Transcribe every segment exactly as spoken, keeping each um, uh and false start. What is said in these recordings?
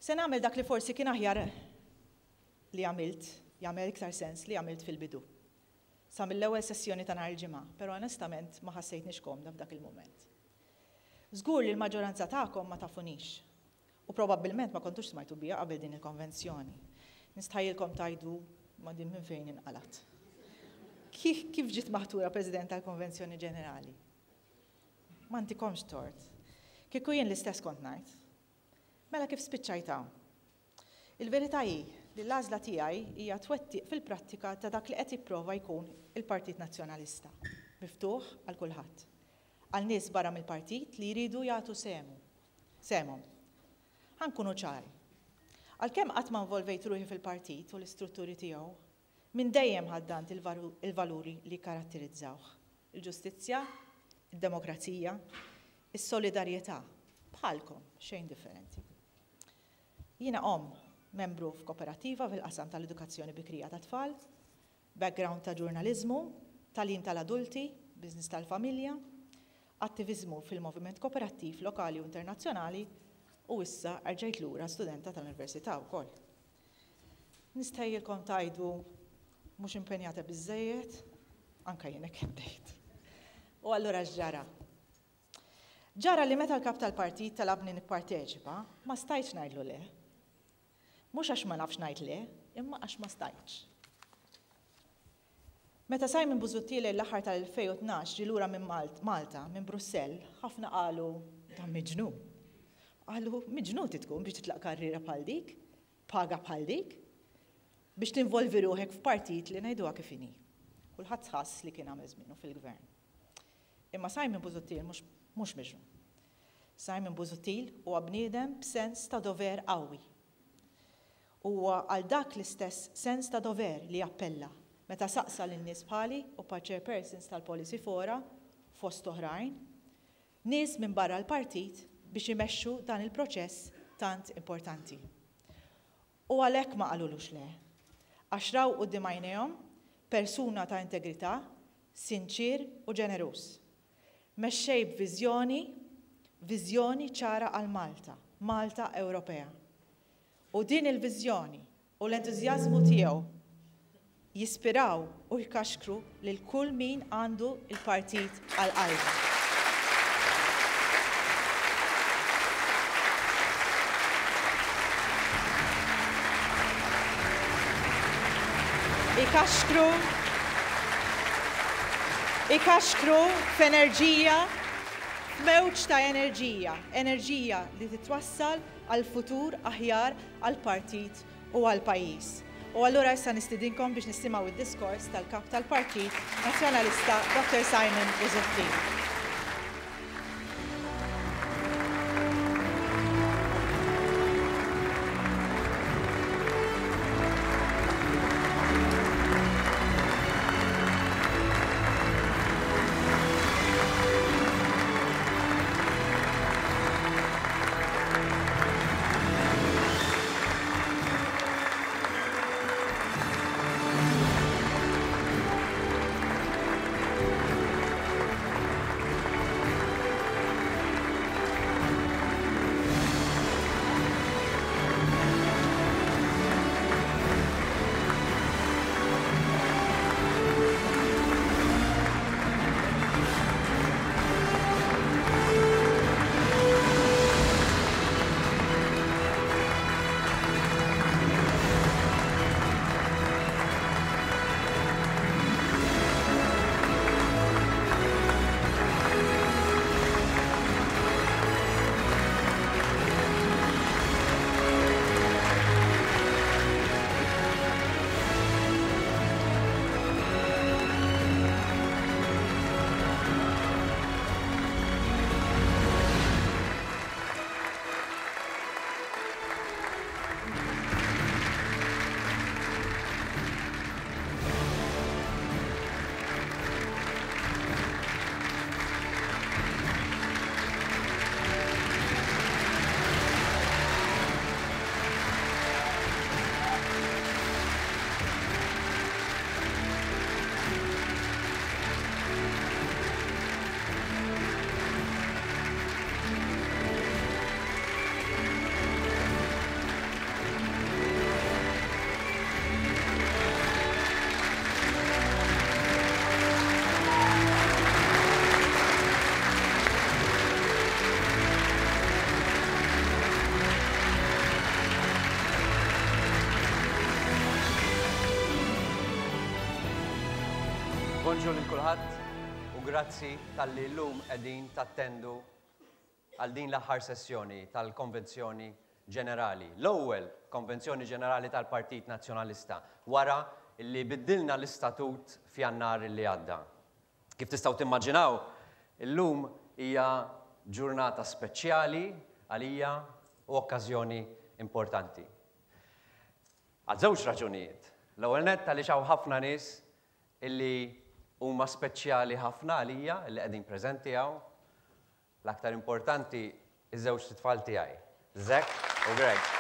Se nagħmel dak li forsi kien aħjar li għamilt, jagħmel iktar sens li għamilt fil-bidu. Sa mill-ewwel sessjoni ta' nhar il-Ġimgħa, però onestament ma ħassejtniex komda f'dak il-mument. Żgur li l-maġġoranza tagħkom ma tafunix. U probabbilment ma kontux smajtu bija qabel din il-konvenzjoni. Nistħajjilkom tgħidu ma din minn fejn inqalat. Kif, kif ġiet maħtura President tal-Konvenzjoni Ġenerali? Ma ntikomx tort. Kieku jien l-istess kont ngħid. Mela kif spiċċajt hawn? Il-verità hi li l-għażla tiegħi hija twettiq fil-prattika ta' dak li qed jipprova jkun il-Partit Nazzjonalista, miftuħ għal kulħadd. Għal nies barra mill-partit li jridu jagħtu sehmu. Sehemhom. Ħa nkunu ċari. Għalkemm qatt ma involvejt ruħi fil-partit u l-istrutturi tiegħu, minn dejjem ħaddant il-valuri li karatterizzawh. Il-ġustizzja, id-demokrazija, is-solidarjetà, bħalkom, xejn differenti. Jiena omm, membru f'kooperativa fil-qasam tal-edukazzjoni bikrija ta' tfal, background ta' ġurnalizmu, tagħlim tal-adulti, business tal-familja, attivizmu fil-moviment kooperattiv lokali u internazzjonali u issa rġajt lura studenta tal-università wkoll. Nistħajjilkom tgħidu mhux impenjata biżejjed, anka jien hekk bdejt. U allura x'ġara? Ġara li meta l-kap tal-partit talabni nipparteċipa, ma stajtx ngħidlu le. Mhux għax ma nafx ngħid le, imma għax ma stajtx. Meta Simon Busuttil l-aħħar tal-elfejn u tnax ġie lura minn Malta, minn Brussell, ħafna qalu dan miġnun. Qalu miġnun tkun biex titlaq karriera bħal dik, paga bħal dik, biex tinvolvi ruħek f'partit li ngħiduha kif inhi. Kulħadd ħass li kien għamel żmienu fil-gvern. Imma Simon Busuttil mhux miġnun. Simon Busuttil huwa bniedem b'sens ta' dover qawwi. Huwa għal dak l-istess sens ta' dover li appella meta saqsa lin-nies bħali u pa' chairpersons tal-Policy Fora fost oħrajn, nies minn barra l-partit biex imexxu dan il-proċess tant importanti. U għalhekk ma qalulux le. Għax raw quddiem għajnejhom persuna ta' integrità, sinċir u ġeneruż. Mexxej b'viżjoni, viżjoni ċara għal Malta, Malta Ewropea. U din il-viżjoni u l-entużjażmu tiegħu jispiraw u jkaxkru lil kull min għandu il-partit għal qalbu. Ikaxkru, ikaxkru f'enerġija, f'mewġ ta' enerġija, enerġija li titwassal għal futur aħjar għal partit u għal pajjiż. U allura issa nistidinkom biex nisimgħu id-diskors tal-kap tal-Partit Nazzjonalista Doktor Simon Busuttil. Bonġu lil kulħadd u grazzi talli llum qegħdin tattendu għal din l-aħħar sessjoni tal-Konvenzjoni Ġenerali. L-ewwel Konvenzjoni Ġenerali tal-Partit Nazzjonalista wara li biddilna l-istatut f'Jannar li għadda. Kif tistgħu timmaġinaw, illum hija ġurnata speċjali għalija u okkażjoni importanti. Għal żewġ raġunijiet. L-ewwel nett għaliex hawn ħafna nies illi huma speċjali ħafna għalija li qegħdin preżenti hawn. L-aktar importanti iż-żewġ tfal tiegħi, Zack u Greg.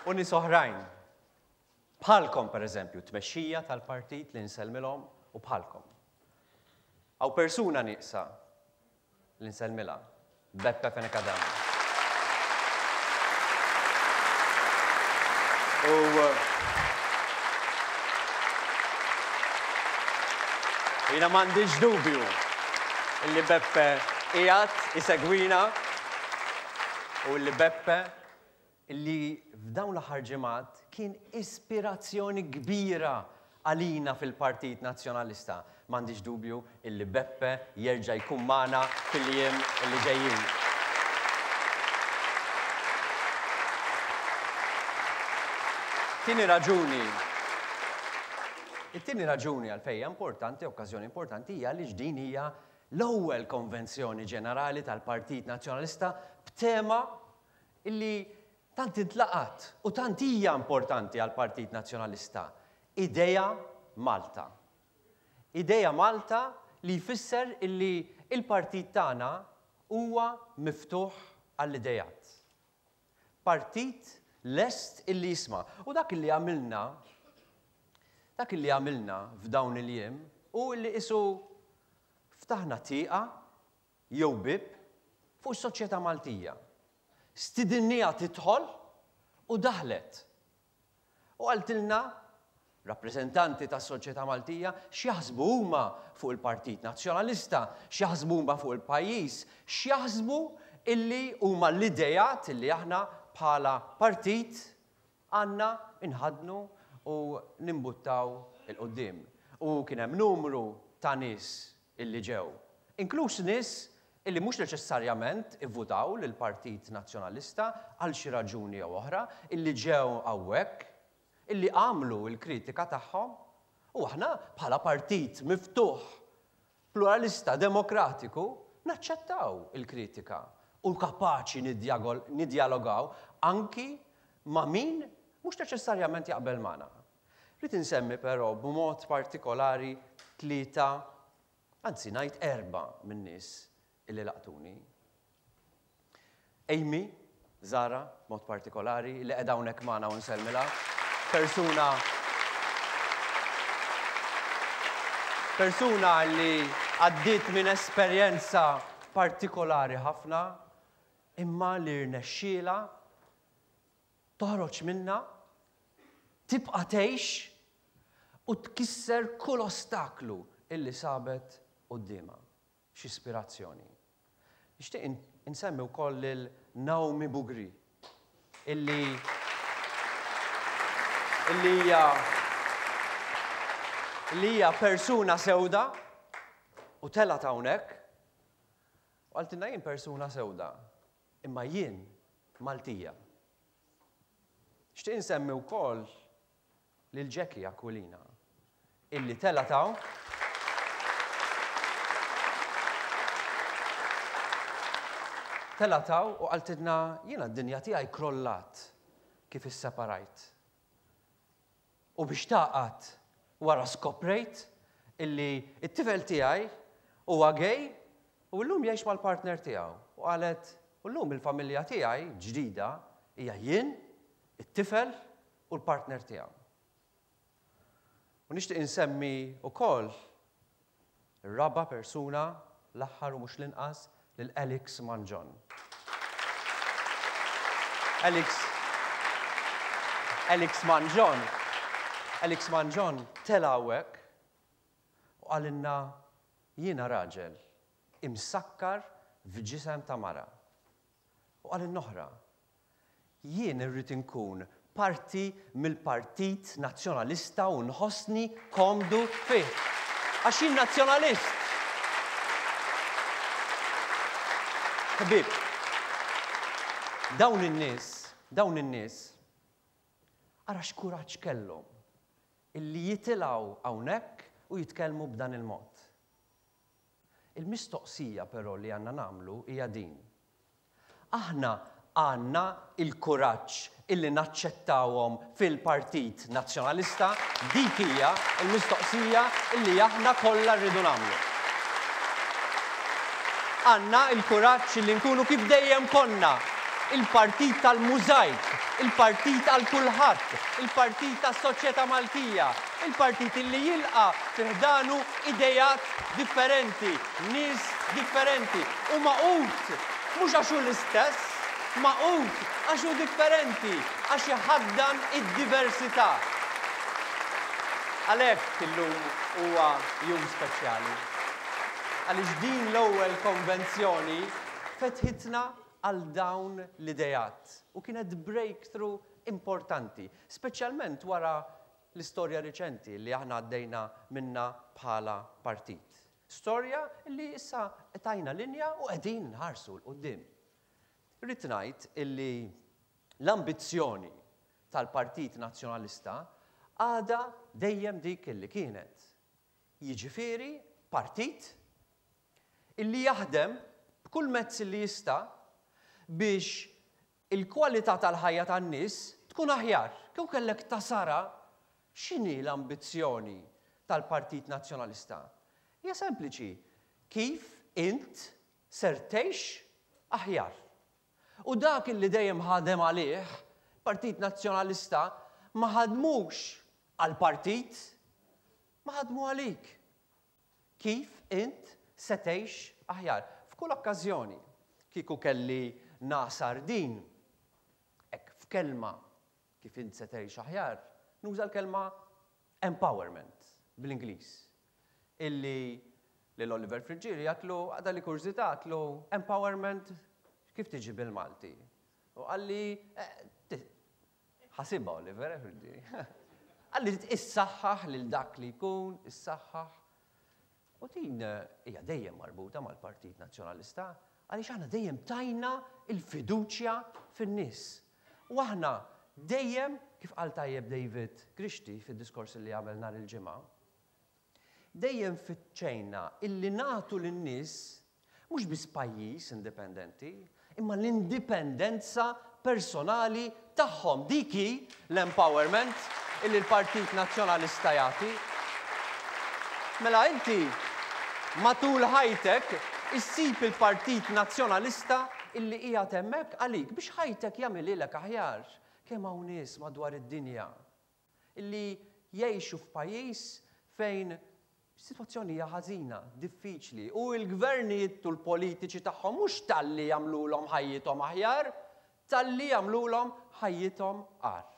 U nies oħrajn, bħalkom per eżempju, tmexxija tal-partit li nsellmilhom u bħalkom. Hawn persuna nieqsa li nsellmilha, Beppe Fenech Adami. U jiena m'għandix dubju illi Beppe qiegħed isegwina u illi Beppe illi f'dawn l-aħħar ġimgħat kien ispirazzjoni kbira għalina fil-Partit Nazzjonalista. M'għandix dubju illi Beppe jerġa' jkun magħna fil-jiem illi ġejjin. Tieni raġuni. It-tieni raġuni għalfejn hija importanti, okkażjoni importanti, hija li din hija l-ewwel Konvenzjoni Ġenerali tal-Partit Nazzjonalista b'tema illi tant intlaqat u tant hija importanti għall-Partit Nazzjonalista. Idea Malta. Idea Malta li jfisser illi il-partit tagħna huwa miftuħ għall-idejat. Partit lest illi jisma'. U dak illi għamilna, dak illi għamilna f'dawn il-jiem u illi isu ftaħna tieqa jew bib fuq is-soċjetà Maltija. Stidinniha tidħol u daħlet. U qaltilna rappreżentanti tas-soċjetà Maltija x'jaħsbu huma fuq il-Partit Nazzjonalista, x'jaħsbu huma fuq il-pajjiż, x'jaħsbu illi huma l-idejat illi aħna bħala partit għandna inħadnu u nimbuttaw il-qudiem. U kien hemm numru ta' nies illi ġew, inkluż nies illi mhux neċessarjament ivvutaw lill-Partit Nazzjonalista għal xi raġuni jew oħra, illi ġew hawnhekk, illi għamlu l-kritika tagħhom, u aħna bħala partit miftuħ, pluralista, demokratiku, naċċettaw il-kritika u kapaċi nidjalogaw anki ma' min mhux neċessarjament jaqbel magħna. Rrid insemmi però b'mod partikolari tlieta, anzi ngħid erba' min-nies illi laqtuni. Amy Zara, b'mod partikolari, li qiegħda hawnhekk magħna u nsellmilha. Persuna persuna li għaddiet minn esperjenza partikolari ħafna, imma li rnexxielha toħroġ minnha, tibqa' tgħix u tkisser kull ostaklu illi sabet quddiemha. X'ispirazzjoni. Nixtieq insemmi wkoll lil Naomi Bugri, illi illi hija illi hija persuna sewda u telgħet hawnhekk u qaltilna jien persuna sewda, imma jien Maltija. Nixtieq insemmi wkoll lil Jackie Aquilina, illi telgħet hawn telgħet hawn u qaltilna jiena d-dinja tiegħi krollat kif isseparajt. U biex taqgħad wara skoprejt illi t-tifel tiegħi huwa gay u llum jgħix mal-partner tiegħu. U qalet, u llum il-familja tiegħi ġdida hija jien, it-tifel u l-partner tiegħu. U nixtieq insemmi wkoll ir-raba' persuna, l-aħħar u mhux l-inqas, lil Alex Mangion. Alex Alex Mangion Alex Mangion tela' hawnhekk U qalilna, jiena raġel imsakkar f'ġisem ta' mara. U qalilna oħra, jien irrid inkun parti mill-Partit Nazzjonalista u nħossni komdu fih. Għax jien nazzjonalist. Ħbieb, dawn in-nies, dawn in-nies, ara x'kuraġġ kellhom illi jitilgħu hawnhekk u jitkellmu b'dan il-mod. Il-mistoqsija però li għandna nagħmlu hija din. Aħna għandna il-kuraġġ illi naċċettawhom fil-Partit Nazzjonalista, dik hija l-mistoqsija illi aħna kollha rridu nagħmlu. Għandna il-kuraġġ illi nkunu kif dejjem konna, il-partit tal-mużajk, il-partit għal kulħadd, il-partit tas-soċjetà Maltija, il-partit illi jilqa' fi ħdanu idejat differenti, nies differenti, u magħqud mhux għax hu l-istess, magħqud għax hu differenti, għax iħaddan id-diversità. Għalhekk illum huwa jum speċjali. Għaliex din l-ewwel konvenzjoni fetħitna għal dawn l-idejat u kienet breakthrough importanti, speċjalment wara l-istorja riċenti li aħna għaddejna minna bħala partit. Storja li issa tajna linja u qegħdin nħarsu 'l quddiem. Irrid ngħid illi l-ambizzjoni tal-Partit Nazzjonalista għadha dejjem dik illi kienet. Jiġifieri partit illi jaħdem b'kull mezz li jista' biex il-kwalità tal-ħajja tan-nies tkun aħjar. Kieku kellek tasara x'inhi l-ambizzjoni tal-Partit Nazzjonalista? Hija sempliċi, kif int ser tgħix aħjar. U dak illi dejjem ħadem għalih, Partit Nazzjonalista ma ħadmux għal-partit, ma ħadmu għalik. Kif int se tgħix aħjar? F'kull okkażjoni, kieku kelli nasar din, hekk f'kelma kif int se tgħix aħjar, nuża l-kelma empowerment bl-Ingliż. Illi lil Oliver Friggieri għatlu, għada li kurżità għatlu empowerment kif tiġi bil-Malti? U qalli, ħasibha Oliver, Friggieri. Qalli issaħħaħ lil dak li jkun, issaħħaħ. U din hija dejjem marbuta mal-Partit Nazzjonalista, għaliex aħna dejjem tajna il-fiduċja fin-nies. U aħna dejjem, kif qal tajjeb David Grixti fid-diskors li għamel nhar il-ġimgħa, dejjem fittxejna illi nagħtu lin-nies mhux biss pajjiż indipendenti, imma l-indipendenza personali tagħhom. Dik hi l-empowerment illi l-Partit Nazzjonalista jagħti. Mela inti matul ħajtek issib il-Partit Nazzjonalista illi qiegħed hemmhekk għalik biex ħajtek jagħmililek aħjar. Kemm hawn nies madwar id-dinja illi jgħixu f'pajjiż fejn situazzjoni hija ħażina, diffiċli, u l-gvernijiet u l-politiċi tagħhom mhux talli jagħmluhom ħajjithom aħjar, talli jagħmluhom ħajjithom agħar.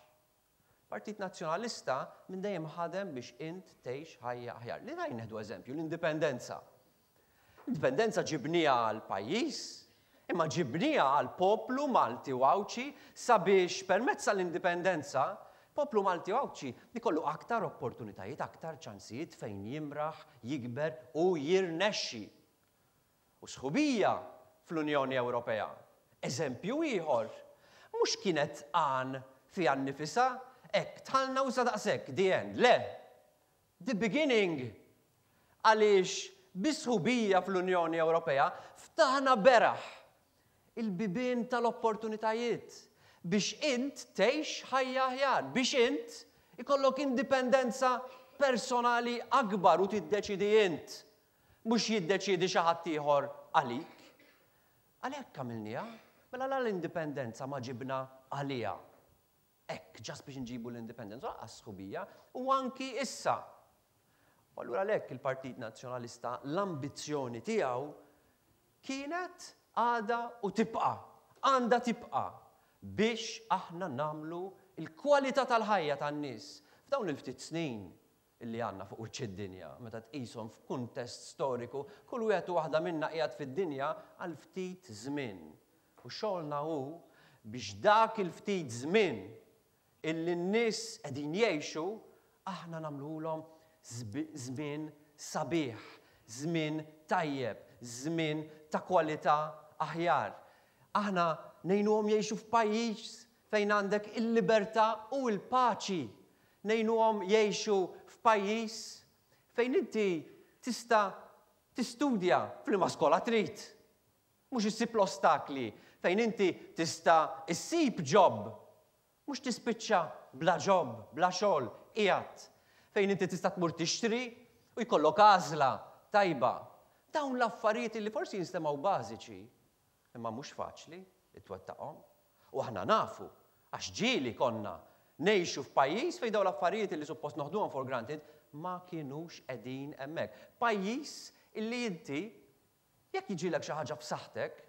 Partit Nazzjonalista minn dejjem ħadem biex int tgħix ħajja aħjar. Li ngħid nieħdu eżempju, l-indipendenza. L-indipendenza ġibniha għal pajjiż, imma ġibniha għal poplu Malti u Għawdxi sabiex permezz tal-indipendenza poplu Malti u Għawdxi ikollu aktar opportunitajiet, aktar ċansijiet fejn jimraħ, jikber u jirnexxi. U sħubija fl-Unjoni Ewropea. Eżempju ieħor, mhux kienet għan fiha nnifisha, hekk dħalna u sa daqshekk, the end. Le, the beginning. Għaliex bis-sħubija fl-Unjoni Ewropea ftaħna beraħ il-bibien tal-opportunitajiet biex int tgħix ħajja aħjar, biex int ikollok indipendenza personali akbar u tiddeċidi int, mhux jiddeċidi xi ħadd ieħor għalik. Għalhekk għamilniha, mela la l-indipendenza ma ġibna għaliha. Hekk, ġas biex nġibu l-indipendenza, lanqas sħubija, u anki issa. U allura għalhekk il-Partit Nazzjonalista l-ambizzjoni tiegħu kienet, għadha u tibqa', għandha tibqa' biex aħna namlu il-kwalità tal-ħajja tan-nies. F'dawn il-ftit snin illi għandna fuq wiċċ id-dinja, meta tqishom f'kuntest storiku, kull wieħed u waħda minna qiegħed fid-dinja għal ftit żmien. U xogħolna hu biex dak il-ftit żmien illi n-nies qegħdin jgħixu, aħna nagħmluhom żmien sabiħ, żmien tajjeb, żmien ta' kwalità aħjar. Aħna ngħinuhom jgħixu f'pajjiż fejn għandek il-libertà u l-paċi. Ngħinuhom jgħixu f'pajjiż fejn inti tista' tistudja f'liema skola trid. Mhux issib l-ostakli, fejn inti tista' issib job. Mhux tispiċċa bla job, bla xogħol, qiegħed. Fejn inti tista' tmur tixtri u jkollok għażla tajba. Dawn l-affarijiet li forsi jinstemgħu bażiċi, imma mhux faċli itwettaqhom. U aħna nafu, għax ġieli konna ngħixu f'pajjiż fejn dawn l-affarijiet li suppost noħduhom for granted ma kienux qegħdin hemmhekk. Pajjiż illi inti jekk jiġilek xi ħaġa f'saħħtek,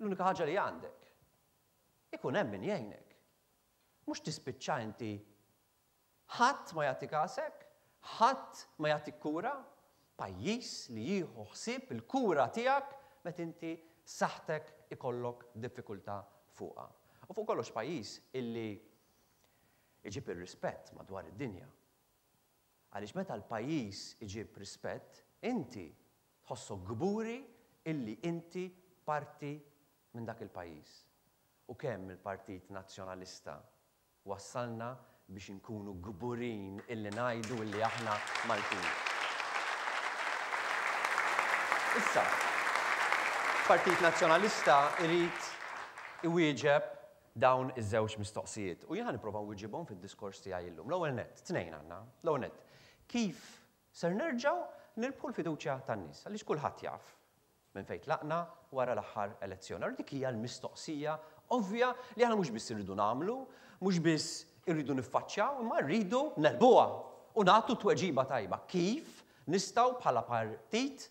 l-unika ħaġa li għandek, ikun hemm min jgħinek. Mhux tispiċċa inti ħadd ma jagħti kasek, ħadd ma jagħtik kura, pajjiż li jieħu ħsieb il-kura tiegħek meta inti saħħtek ikollok diffikultà fuqha. U fuq kollox pajjiż illi iġib ir-rispett madwar id-dinja. Għaliex meta l-pajjiż iġib rispett, inti tħossok kburi illi inti parti minn dak il-pajjiż. U kemm il-Partit Nazzjonalista wassalna biex inkunu kburin illi ngħidu illi aħna Maltin. Issa, Partit Nazzjonalista irid iwieġeb dawn iż-żewġ mistoqsijiet. U jiena nipprova nwieġibhom fid-diskors tiegħi llum. L-ewwel nett, tnejn għandna. L-ewwel nett, kif ser nerġgħu nirbħu l-fiduċja tan-nies? Għaliex kulħadd jaf minn fejn tlaqna wara l-aħħar elezzjoni. Allura dik hija l-mistoqsija ovvja li aħna mhux biss irridu nagħmlu, mhux biss irridu niffaċċjaw, imma rridu negħlbuha u nagħtu tweġiba tajba. Kif nistgħu bħala partit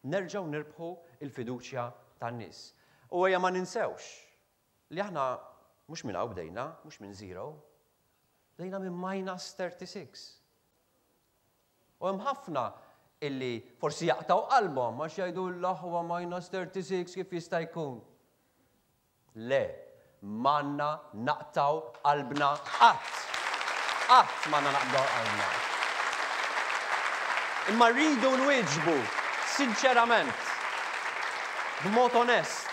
nerġgħu nirbħu l-fiduċja tan-nies? U ejja ma ninsewx li aħna mhux minn hawn bdejna, mhux minn zero, bdejna minn minus thirty-six. U hemm ħafna illi forsi jaqtaw qalbhom għax jgħidu l-aħwa minus thirty-six kif jista' jkun. Le, m'għandna naqtaw qalbna qatt. Qatt m'għandna naqtaw qalbna. Imma rridu nwieġbu sinċerament, b'mod onest,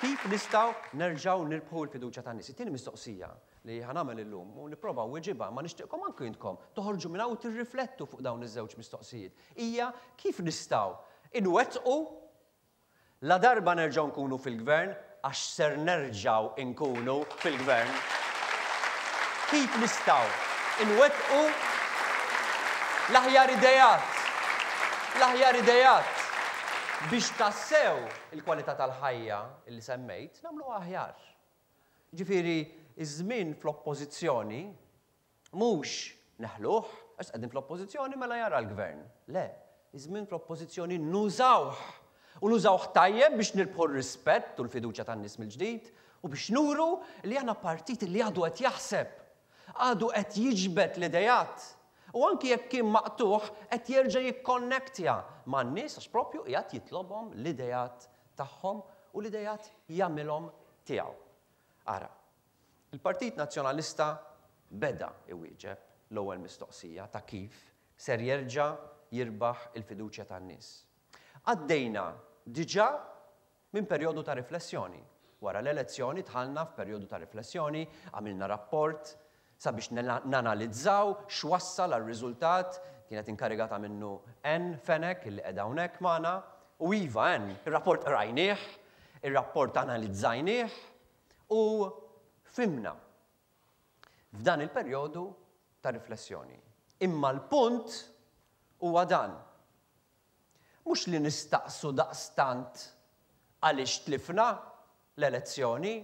kif nistgħu nerġgħu nirbħu l-fiduċja tan-nies. It-tieni mistoqsija li ħa nagħmel illum u nipprova nweġibha, ma nixtieqkom anke intkom toħorġu minn hawn u tirriflettu fuq dawn iż-żewġ mistoqsijiet. Hija kif nistgħu inwettqu la darba nerġgħu nkunu fil-gvern, għax ser nerġgħu nkunu fil-gvern. Kif nistgħu inwettqu l-aħjar idejat, l-aħjar idejat biex tassew il-kwalità tal-ħajja li semmejt nagħmluha aħjar. Ġifieri, iż-żmien fl-oppożizzjoni mhux neħluh, għax qegħdin fl-oppożizzjoni mela jara l-gvern. Le, iż-żmien fl-oppożizzjoni nużawh. U nużawh tajjeb biex nirbħu r-rispett u l-fiduċja tan-nies mill-ġdid u biex nuru li aħna partit li għadu qed jaħseb, għadu qed jiġbed l-idejat. U anki jekk kien maqtuħ qed jerġa' jikkonnektja man-nies għax propju qiegħed jitlobhom l-idejat tagħhom u l-idejat jagħmilhom tiegħu. Ara, il-Partit Nazzjonalista beda iwieġeb l-ewwel mistoqsija ta' kif ser jerġa' jirbaħ il-fiduċja tan-nies. Għaddejna diġà minn perjodu ta' riflessjoni. Wara l-elezzjoni dħalna f'perjodu ta' riflessjoni, għamilna rapport sabiex nanalizzaw x'wassal għar-riżultat, kienet inkarigata minnu Ann Fenech illi qiegħda hawnhekk magħna, u iva Ann, ir-rapport qrajnieh, ir-rapport analizzajnieh u fimna f'dan il-perjodu ta' riflessjoni. Imma l-punt huwa dan. Mhux li nistaqsu daqstant għaliex tlifna l-elezzjoni,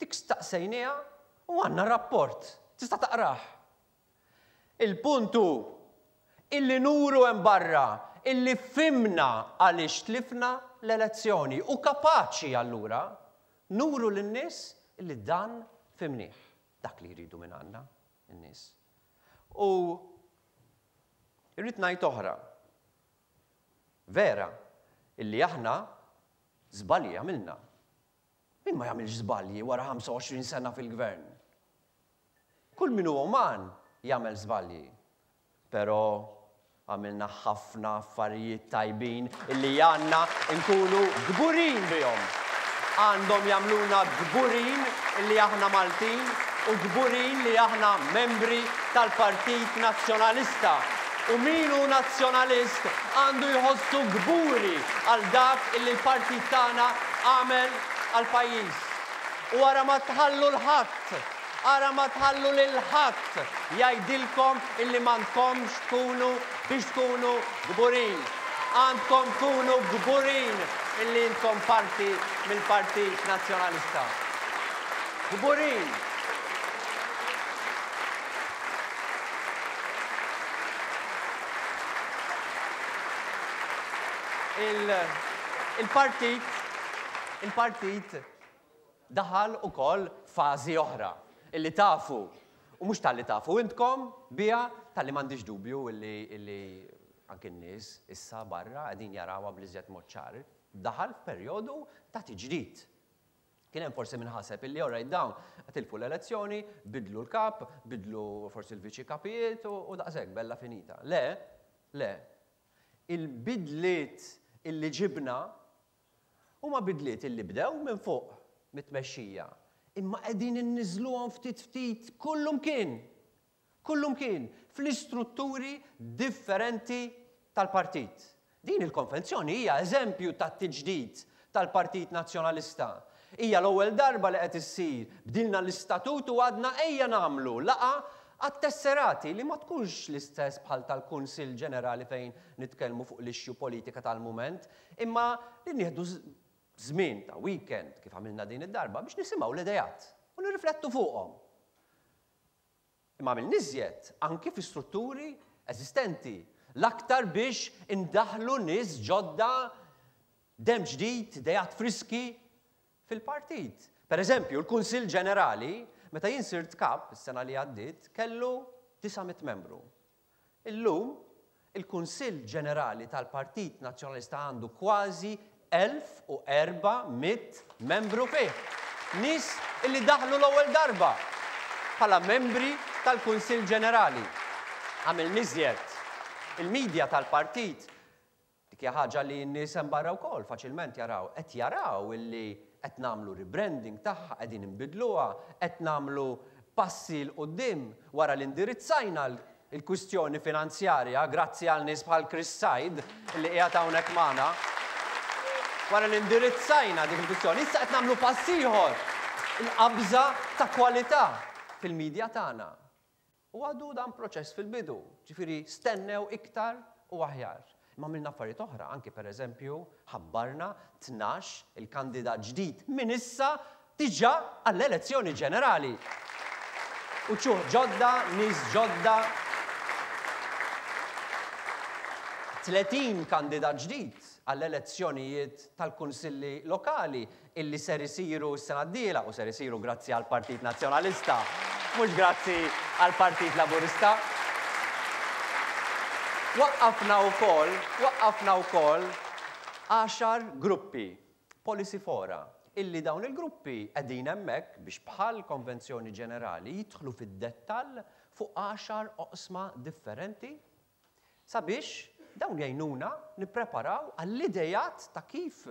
dik staqsejniha u għandna rapport, tista' taqrah. Il-punt hu illi nuru hemm barra illi fimna għaliex tlifna l-elezzjoni u kapaċi allura nuru lin-nies illi dan fimnieh, dak li jridu minn għandna n-nies. U Irrid ngħid oħra. Vera, illi aħna żbalji għamilna. Min ma jagħmilx żbalji wara ħamsa u għoxrin sena fil-gvern? Kull min hu uman jagħmel żbalji. Però għamilna ħafna affarijiet tajbin illi għandna nkunu kburin bihom. Għandhom jagħmluna kburin illi aħna Maltin u kburin li aħna membri tal-Partit Nazzjonalista. U min hu nazzjonalist għandu jħossu kburi għal dak illi l-partit tagħna għamel għal pajjiż. U ara ma tħallu l-ħadd, ara ma tħallu lil ħadd jgħidilkom illi m'għandkomx tkunu biex tkunu kburin. Għandkom tkunu kburin illi intkom parti mill-Partit Nazzjonalista. Kburin. Il-partit, il-partit daħal ukoll fażi oħra illi tafu, u mhux talli tafu intkom biha, talli m'għandix dubju illi, illi anke n-nies issa barra qegħdin jarawha bl-iżjed mod ċar, daħal f'perjodu ta' tiġdid. Kien hemm forsi min ħaseb illi all right dawn tilfu l-elezzjoni, bidlu l-kap, bidlu forsi l-viċi kapijiet u, u daqshekk bella finita. Le, le. Il-bidliet illi ġibna huma bidliet illi bdew minn fuq mit-tmexxija, imma qegħdin inniżluhom ftit ftit kullumkien, kullumkien fl-istrutturi differenti tal-partit. Din il-konvenzjoni hija eżempju tat-tiġdid tal-Partit Nazzjonalista. Hija l-ewwel darba li qed issir, bdilna l-istatut u għadna ejja nagħmlu laqgħa għat-tesserati li ma tkunx l-istess bħal tal-Kunsill Ġenerali fejn nitkellmu fuq l-issue politika tal-mument, imma li nieħdu żmien ta' weekend kif għamilna din id-darba biex nisimgħu l-idejat u nirriflettu fuqhom. Imma għamilna iżjed anki fi strutturi eżistenti, l-aktar biex indaħlu nies ġodda, dem ġdid, idejat friski fil-partit. Per eżempju, l-Kunsill Ġenerali, meta jien sirt kap is-sena li għaddiet, kellu disa' mitt membru. Illum, il-Kunsill Ġenerali tal-Partit Nazzjonalista għandu kważi elf u erba' mitt membru fih. Nies illi daħlu l-ewwel darba bħala membri tal-Kunsill Ġenerali. Għamil niżjed. Il-medja tal-partit, dik hija ħaġa li n-nies hemm barra wkoll faċilment jaraw, qed jaraw illi qed nagħmlu rebranding tagħha, qegħdin inbidluha, qed nagħmlu passi 'l quddiem wara li indirizzajna l-kwistjoni finanzjarja grazzi għal nies bħal Chris Said li qiegħed hawnhekk magħna. Wara li indirizzajna dik il-kwistjoni, issa qed nagħmlu pass ieħor, il-qabża ta' kwalità fil-medja tagħna. U għadu dan proċess fil-bidu, ġifieri stennew iktar u aħjar. Imma għamilna affarijiet oħra, anki per eżempju ħabbarna tnax il-kandidat ġdid minn issa diġà għall-elezzjoni ġenerali. U ċuħ ġodda, nies ġodda, tletin kandidat ġdid għall-elezzjonijiet tal-kunsilli lokali illi ser isiru s-sena d-dieħla u ser isiru grazzi għall-Partit Nazzjonalista, mhux grazzi għall-Partit Laburista. Waqqafna wkoll, waqqafna wkoll għaxar gruppi, policy fora, illi dawn il-gruppi qegħdin hemmhekk biex bħal konvenzjoni ġenerali jidħlu fid-dettall fuq għaxar oqsma differenti sabiex dawn jgħinuna nippreparaw għall-idejat ta' kif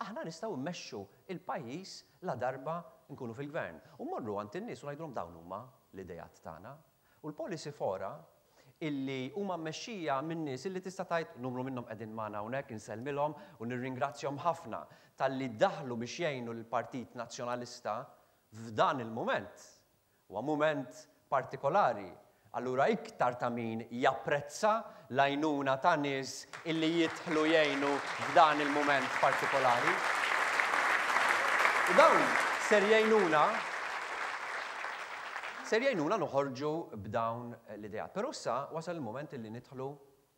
aħna nistgħu mmexxu il-pajjiż la darba nkunu fil-gvern. U mmorru għand in-nies u ngħidulhom dawn huma l-idejat tagħna. U l-policy fora illi huma mmexxija minn nies illi tista' tgħid numru minnhom qegħdin magħna hawnhekk, insellmilhom u nirringrazzjahom ħafna talli daħlu biex jgħinu l-Partit Nazzjonalista f'dan il-mument. Huwa mument partikolari. Allura iktar ta' min japprezza l-għajnuna ta' nies illi jidħlu jgħinu f'dan il-mument partikolari. U dawn ser jgħinuna ser jgħinuna noħorġu b'dawn l-idejat. Però issa wasal il-mument illi nidħlu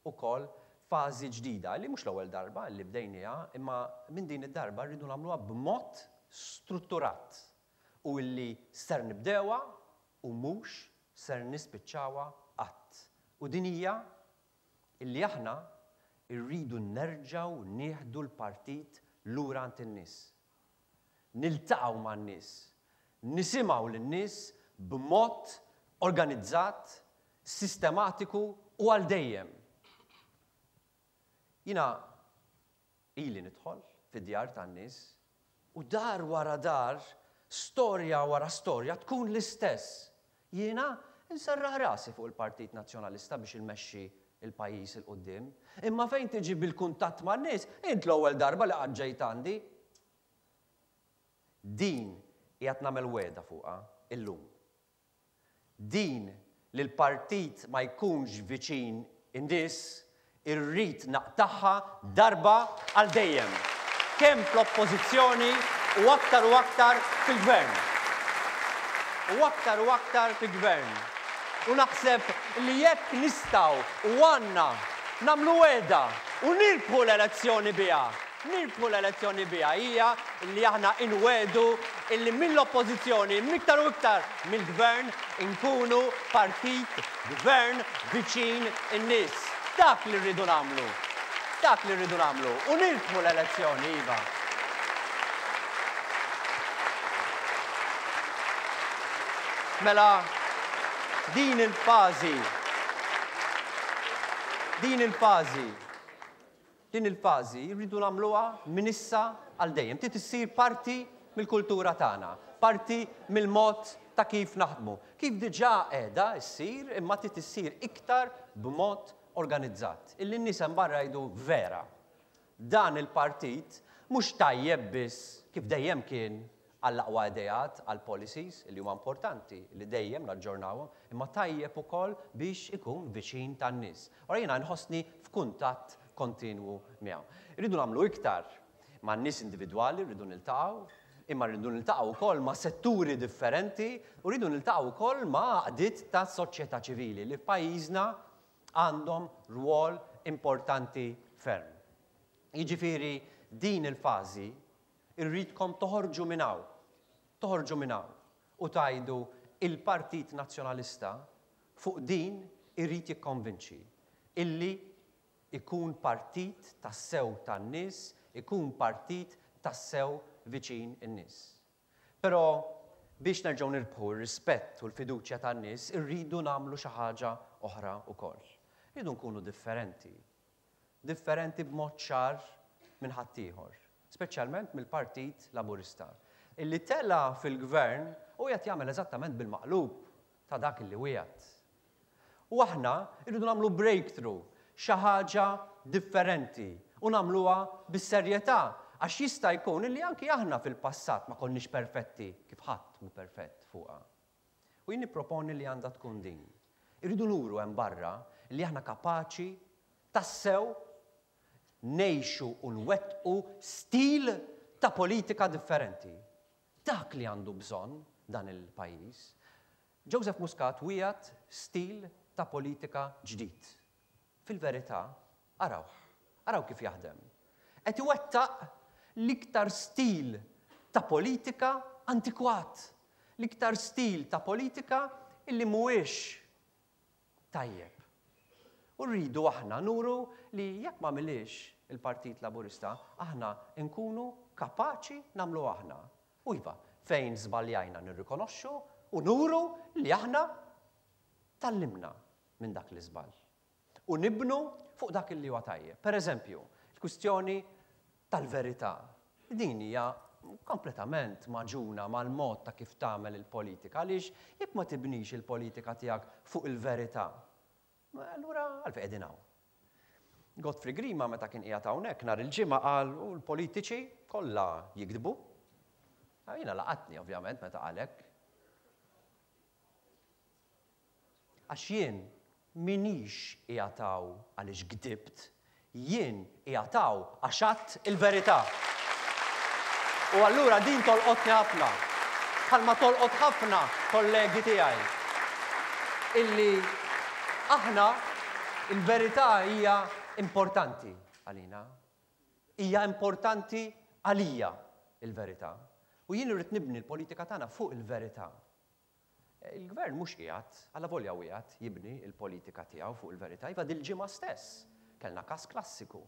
wkoll fażi ġdida li mhux l-ewwel darba li bdejniha, imma minn din id-darba rridu nagħmluha b'mod strutturat u illi ser nibdewha u mhux ser nispiċċawha qatt. U din hija Illi aħna rridu nerġgħu nieħdu l-partit lura għand in-nies. Niltaqgħu man-nies, nisimgħu lin-nies b'mod organizzat, sistematiku u għal dejjem. Jiena ili nidħol fid-djar tan-nies u dar wara dar, storja wara storja tkun l-istess. Jiena nserraħ rasi fuq il-Partit Nazzjonalista biex immexxi il-pajjiż 'il quddiem. Imma fejn tiġi bil-kuntatt man-nies, int l-ewwel darba li qatt ġejt għandi. Din qiegħed nagħmel wegħda fuqha illum. Din li l-partit ma jkunx viċin in-nies, irrid naqtagħha darba għal dejjem. Kemm fl-oppożizzjoni u aktar u aktar fil-gvern. U aktar u aktar fil-gvern. U naħseb li jekk nistgħu u għandna nagħmlu wegħda u nirbħu l-elezzjoni biha. Nirbħu l-elezzjoni biha hija li aħna inwiegħdu illi mill-oppożizzjoni iktar u iktar mill-gvern inkunu partit gvern viċin in-nies. Dak li rridu nagħmlu. Dak li rridu nagħmlu. U nirbħu l-elezzjoni, iva. Mela, din il-fażi, din il-fażi, din il-fażi rridu nagħmluha minn issa għal dejjem. Trid issir parti mill-kultura tagħna, parti mill-mod ta' kif naħdmu. Kif diġà qiegħda ssir, imma trid issir iktar b'mod organizzat. Illi n-nies hemm barra jgħidu vera. Dan il-partit mhux tajjeb biss kif dejjem kien għall-aqwa ideat, għall-policies li huma importanti li dejjem naġġornawhom, imma tajjeb ukoll biex ikun viċin tan-nies. Ora jiena nħossni f'kuntatt kontinwu miegħu. Irridu nagħmlu iktar man-nies individwali, rridu niltaqgħu, imma rridu niltaqgħu wkoll ma' setturi differenti u rridu niltaqgħu wkoll ma' għaqdiet ta' soċjetà ċivili li f'pajjiżna għandhom rwol importanti ferm. Jiġifieri din il-fażi irridkom toħorġu minn hawn, toħorġu minn hawn u tgħidu il-Partit Nazzjonalista fuq din irrid jikkonvinċi illi ikun partit tassew tan-nies, ikun partit tassew viċin in-nies. Però biex nerġgħu nirbħu r-rispett u l-fiduċja tan-nies, irridu nagħmlu xi ħaġa oħra wkoll. Irridu nkunu differenti. Differenti b'mod ċar minn ħaddieħor, speċjalment mill-Partit Laburista, illi tela fil-gvern u qed jagħmel eżattament bil-maqlub ta' dak illi wiegħed. U aħna rridu nagħmlu breakthrough, xi ħaġa differenti u nagħmluha bis-serjetà, għax jista' jkun illi anki aħna fil-passat ma konniex perfetti kif ħadd mhu perfett fuqha. U jien nipproponi li għandha tkun din. Irridu nuru hemm barra li aħna kapaċi tassew ngħixu u nwettqu stil ta' politika differenti. Dak li għandu bżonn dan il-pajjiż. Joseph Muscat wiegħed stil ta' politika ġdid. Fil-verità, arawh, araw kif jaħdem. Qed iwettaq l-iktar stil ta' politika antikwat, l-iktar stil ta' politika illi mhuwiex tajjeb. U rridu aħna nuru li jekk ma milix il-Partit Laburista, aħna nkunu kapaċi nagħmlu aħna. U iva, fejn żbaljajna nirrikonoxxu u nuru li aħna tallimna minn dak l-iżball. U nibnu fuq dak li huwa tajjeb. Per eżempju, il-kwistjoni tal-verità. Din hija kompletament maġuna mal-mod ta' kif tagħmel il-politika. Għaliex jekk ma tibnix il-politika tiegħek fuq il-verità, allura għalfejn qegħdin hawn. Godfrey Grima meta kien qiegħed hawnhekk nhar il-ġimgħa qal u l-politiċi kollha jikdbu. Jiena laqatni ovvjament meta qal hekk. Għax jien minix qiegħed hawn għaliex gdibt, jien qiegħed hawn għax għadt il-verità. U allura din tolqotni ħafna, bħalma tolqot ħafna kollegi tiegħi. Illi aħna il-verità hija importanti għalina. Hija importanti għalija il-verità. U jien irrid nibni l-politika tagħna fuq il-verità. Il-gvern mhux qiegħed, allavolja qiegħed jibni l-politika tiegħu fuq il-verità, iva dil-ġimgħa stess kellna każ klassiku.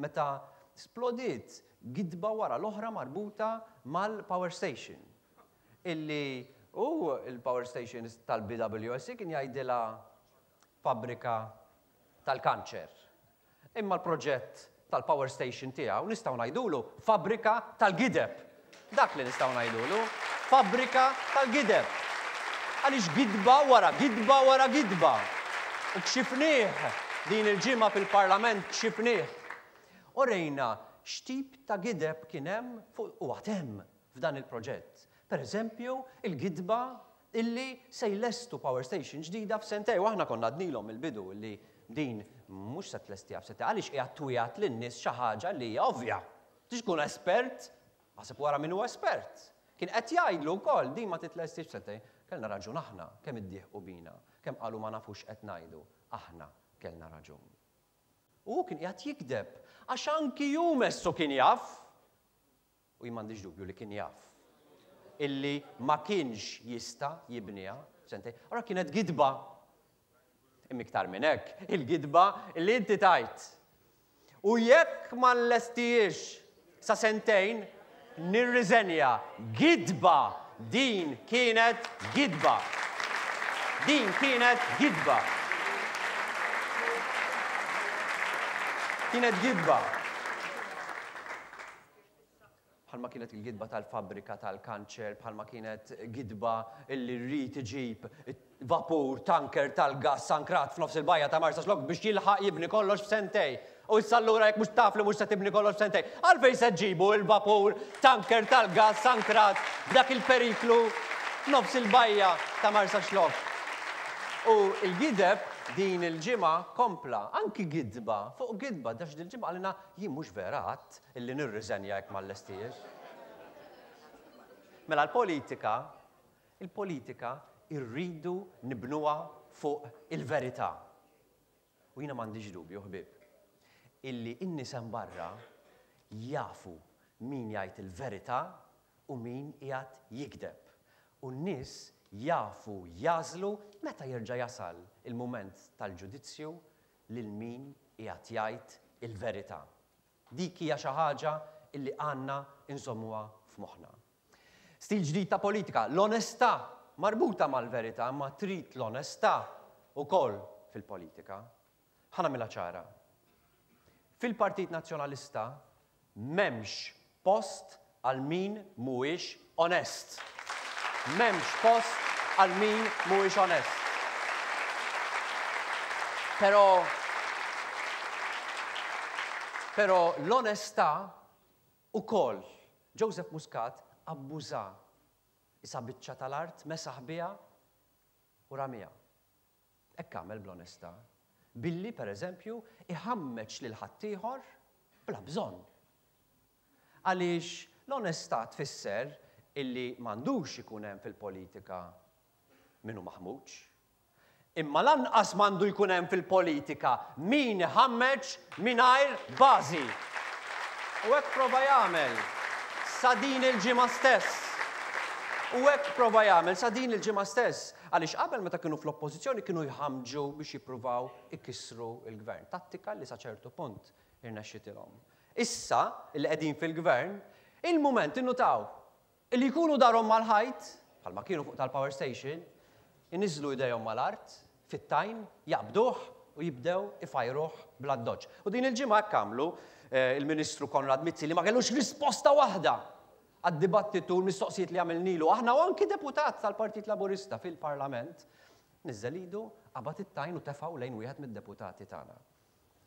Meta splodiet gidba wara l-oħra marbuta mal-power station. Illi u il-power station tal-B W S C kien jgħidilha fabbrika tal-kanċer. Imma l-proġett tal-power station tiegħu nistgħu ngħidulu fabbrika tal-gideb. Dak li nistgħu ngħidulu, fabbrika tal-gideb. Għaliex gidba wara gidba wara gidba. U kxifnieh din il-ġimgħa fil-Parlament, kxifnieh. U rejna x'tip ta' gideb kien hemm fuq u għad hemm f'dan il-proġett. Per eżempju, il-gidba illi se jlestu power station ġdida f'sentejn, u aħna konna għednielhom il-bidu illi din mhux se tlestiha f'sentejn, għaliex qiegħed twiegħed lin-nies xi ħaġa li hija ovvja. Tix tkun espert, aħseb wara min hu espert. Kien qed jgħidlu wkoll din ma titlestix f'sentejn. Kellna raġun aħna, kemm iddieħqu bina, kemm qalu ma nafux qed ngħidu. Aħna kellna raġun. U kien qiegħed jikdeb, għax anki hu messu kien jaf, u jien m'għandix dubju li kien jaf, illi ma kienx jista' jibniha f'sentejn. Ora kienet gidba. Imma iktar minn hekk, il-gidba illi inti tajt. U jekk ma nlestihiex sa sentejn, nirriżenja. Gidba! Din kienet gidba. Din kienet gidba. Kienet gidba. Bħalma kienet il-gidba tal-fabbrika tal-kanċer, bħalma kienet gidba illi rrid iġib vapur, tanker tal-gas ankrat f'nofs il-bajja ta' Marsaxlokk biex jilħaq jibni kollox f'sentejn. U issa allura jekk mhux taf li mhux se tibni kollox f'sentejn, għalfejn se ġibu il-vapur, tanker tal-gas ankrat b'dak il-periklu f'nofs il-bajja ta' Marsaxlokk? U il-gideb din il-ġimgħa kompla, anki gidba, fuq gidba, dax dil-ġimgħa qalilna jien mhux vera għadt illi nirriżenja jekk ma nlestihiex. Mela l-politika, il-politika irridu nibnuha fuq il-verità. U jiena m'għandix dubju, ħbieb, illi n-nies hemm barra jafu min jgħid il-verità u min qiegħed jikdeb. U n-nies jafu jagħżlu meta jerġa' jasal il-mument tal-ġudizzju lil min qiegħed jgħid il-verità. Dik hija xi ħaġa illi għandna nżommuha f'moħħna. Stil ġdid ta' politika, l-onestà marbuta mal-verità, ma trid l-onestà ukoll fil-politika. Ħa nagħmilha ċara. Fil-Partit Nazzjonalista m'hemmx post għal min mhuwiex onest. M'hemmx post għal min mhuwiex onest. Però però l-onestà ukoll Joseph Muscat abbuża. Isa biċċa tal-art mesaħ biha u ramiha. Hekk għamel bl-onestà. Billi, per eżempju, iħammeġ lil ħaddieħor bla bżonn. Għaliex l-onestà tfisser illi m'għandux ikun hemm fil-politika min hu maħmuġ. Imma lanqas m'għandu jkun hemm fil-politika min iħammeġ mingħajr bażi. U hekk prova jagħmel sa din il-ġimgħa stess. U hekk prova jagħmel sa din il-ġimgħa stess. Għaliex qabel meta kienu fl-oppożizzjoni kienu jħamġu biex jippruvaw ikissru il-gvern. Tattika li sa ċertu punt irnexxitilhom. Issa li qegħdin fil-gvern, il-mument innutaw illi jkunu darhom mal-ħajt, bħalma kienu fuq tal-power station, iniżlu idejhom mal-art, fit-tajn, jaqbduh u jibdew ifajruh bl-addoċċ. U din il-ġimgħa hekk għamlu eh, il-Ministru Konrad Mizzi li ma kellux risposta waħda għad-dibattitu l-mistoqsijiet li għamilnilu. Aħna u anki deputat tal-Partit Laburista fil-Parlament, niżel idu, qabad it-tajn u tefgħu lejn wieħed mid-deputati tagħna.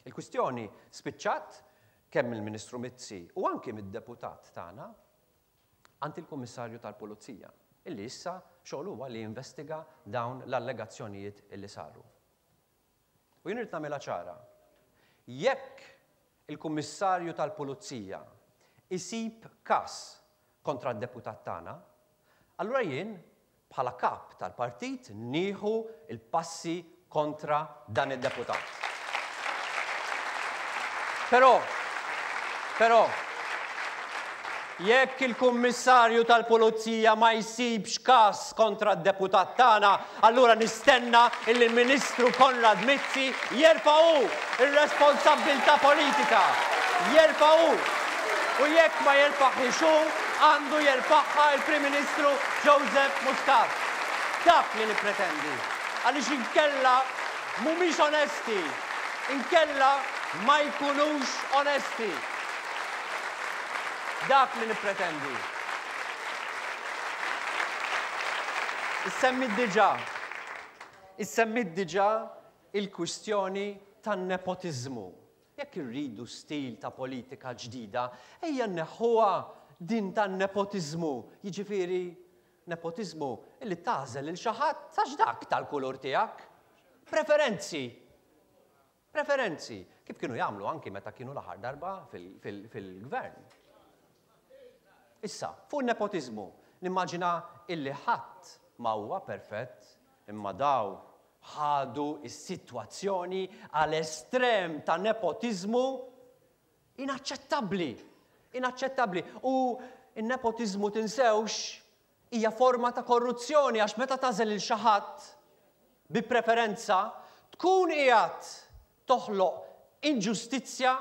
Il-kwistjoni spiċċat kemm il-Ministru Mizzi u anki mid-deputat tagħna għand il-Kummissarju tal-Pulizija, illi issa xogħol huwa li jinvestiga dawn l-allegazzjonijiet illi saru. U jien irid nagħmilha ċara. Jekk il-Kummissarju tal-Pulizija isib każ kontra d-deputat tagħna, allura jien bħala kap tal-partit nieħu il-passi kontra dan id-deputat. Però, però, Jekk il-Kummissarju tal-Pulizija ma jsibx każ kontra d-deputat tagħna, allura nistenna illi l-Ministru Konrad Mizzi jerfa' hu r-responsabbiltà politika. Jerfa' hu. U jekk ma jerfaħiex hu, għandu jerfagħha l-Prim Ministru Joseph Muscat. Dak li nippretendi. Għaliex inkella mhumiex onesti. Inkella ma jkunux onesti. Dak li nippretendi. Issemmit diġà. Issemmit diġà il-kwistjoni tan-nepotiżmu. Jekk irridu stil ta' politika ġdida, ejja nneħħuha din tan-nepotiżmu. Jiġifieri nepotiżmu illi tagħżel lil xi ħadd għax dak tal-kulur tiegħek. Preferenzi. Preferenzi. Kif kienu jagħmlu anki meta kienu l-aħħar darba fil-gvern. Issa, fuq nepotiżmu, nimmaġina illi ħadd ma huwa perfett, imma daw ħadu s-sitwazzjoni għal estrem ta' nepotiżmu inaċċettabbli. Inaċċettabbli. U n-nepotiżmu tinsewx hija forma ta' korruzzjoni għax meta tagħżel lil xi ħadd bi preferenza tkun qiegħed toħloq inġustizzja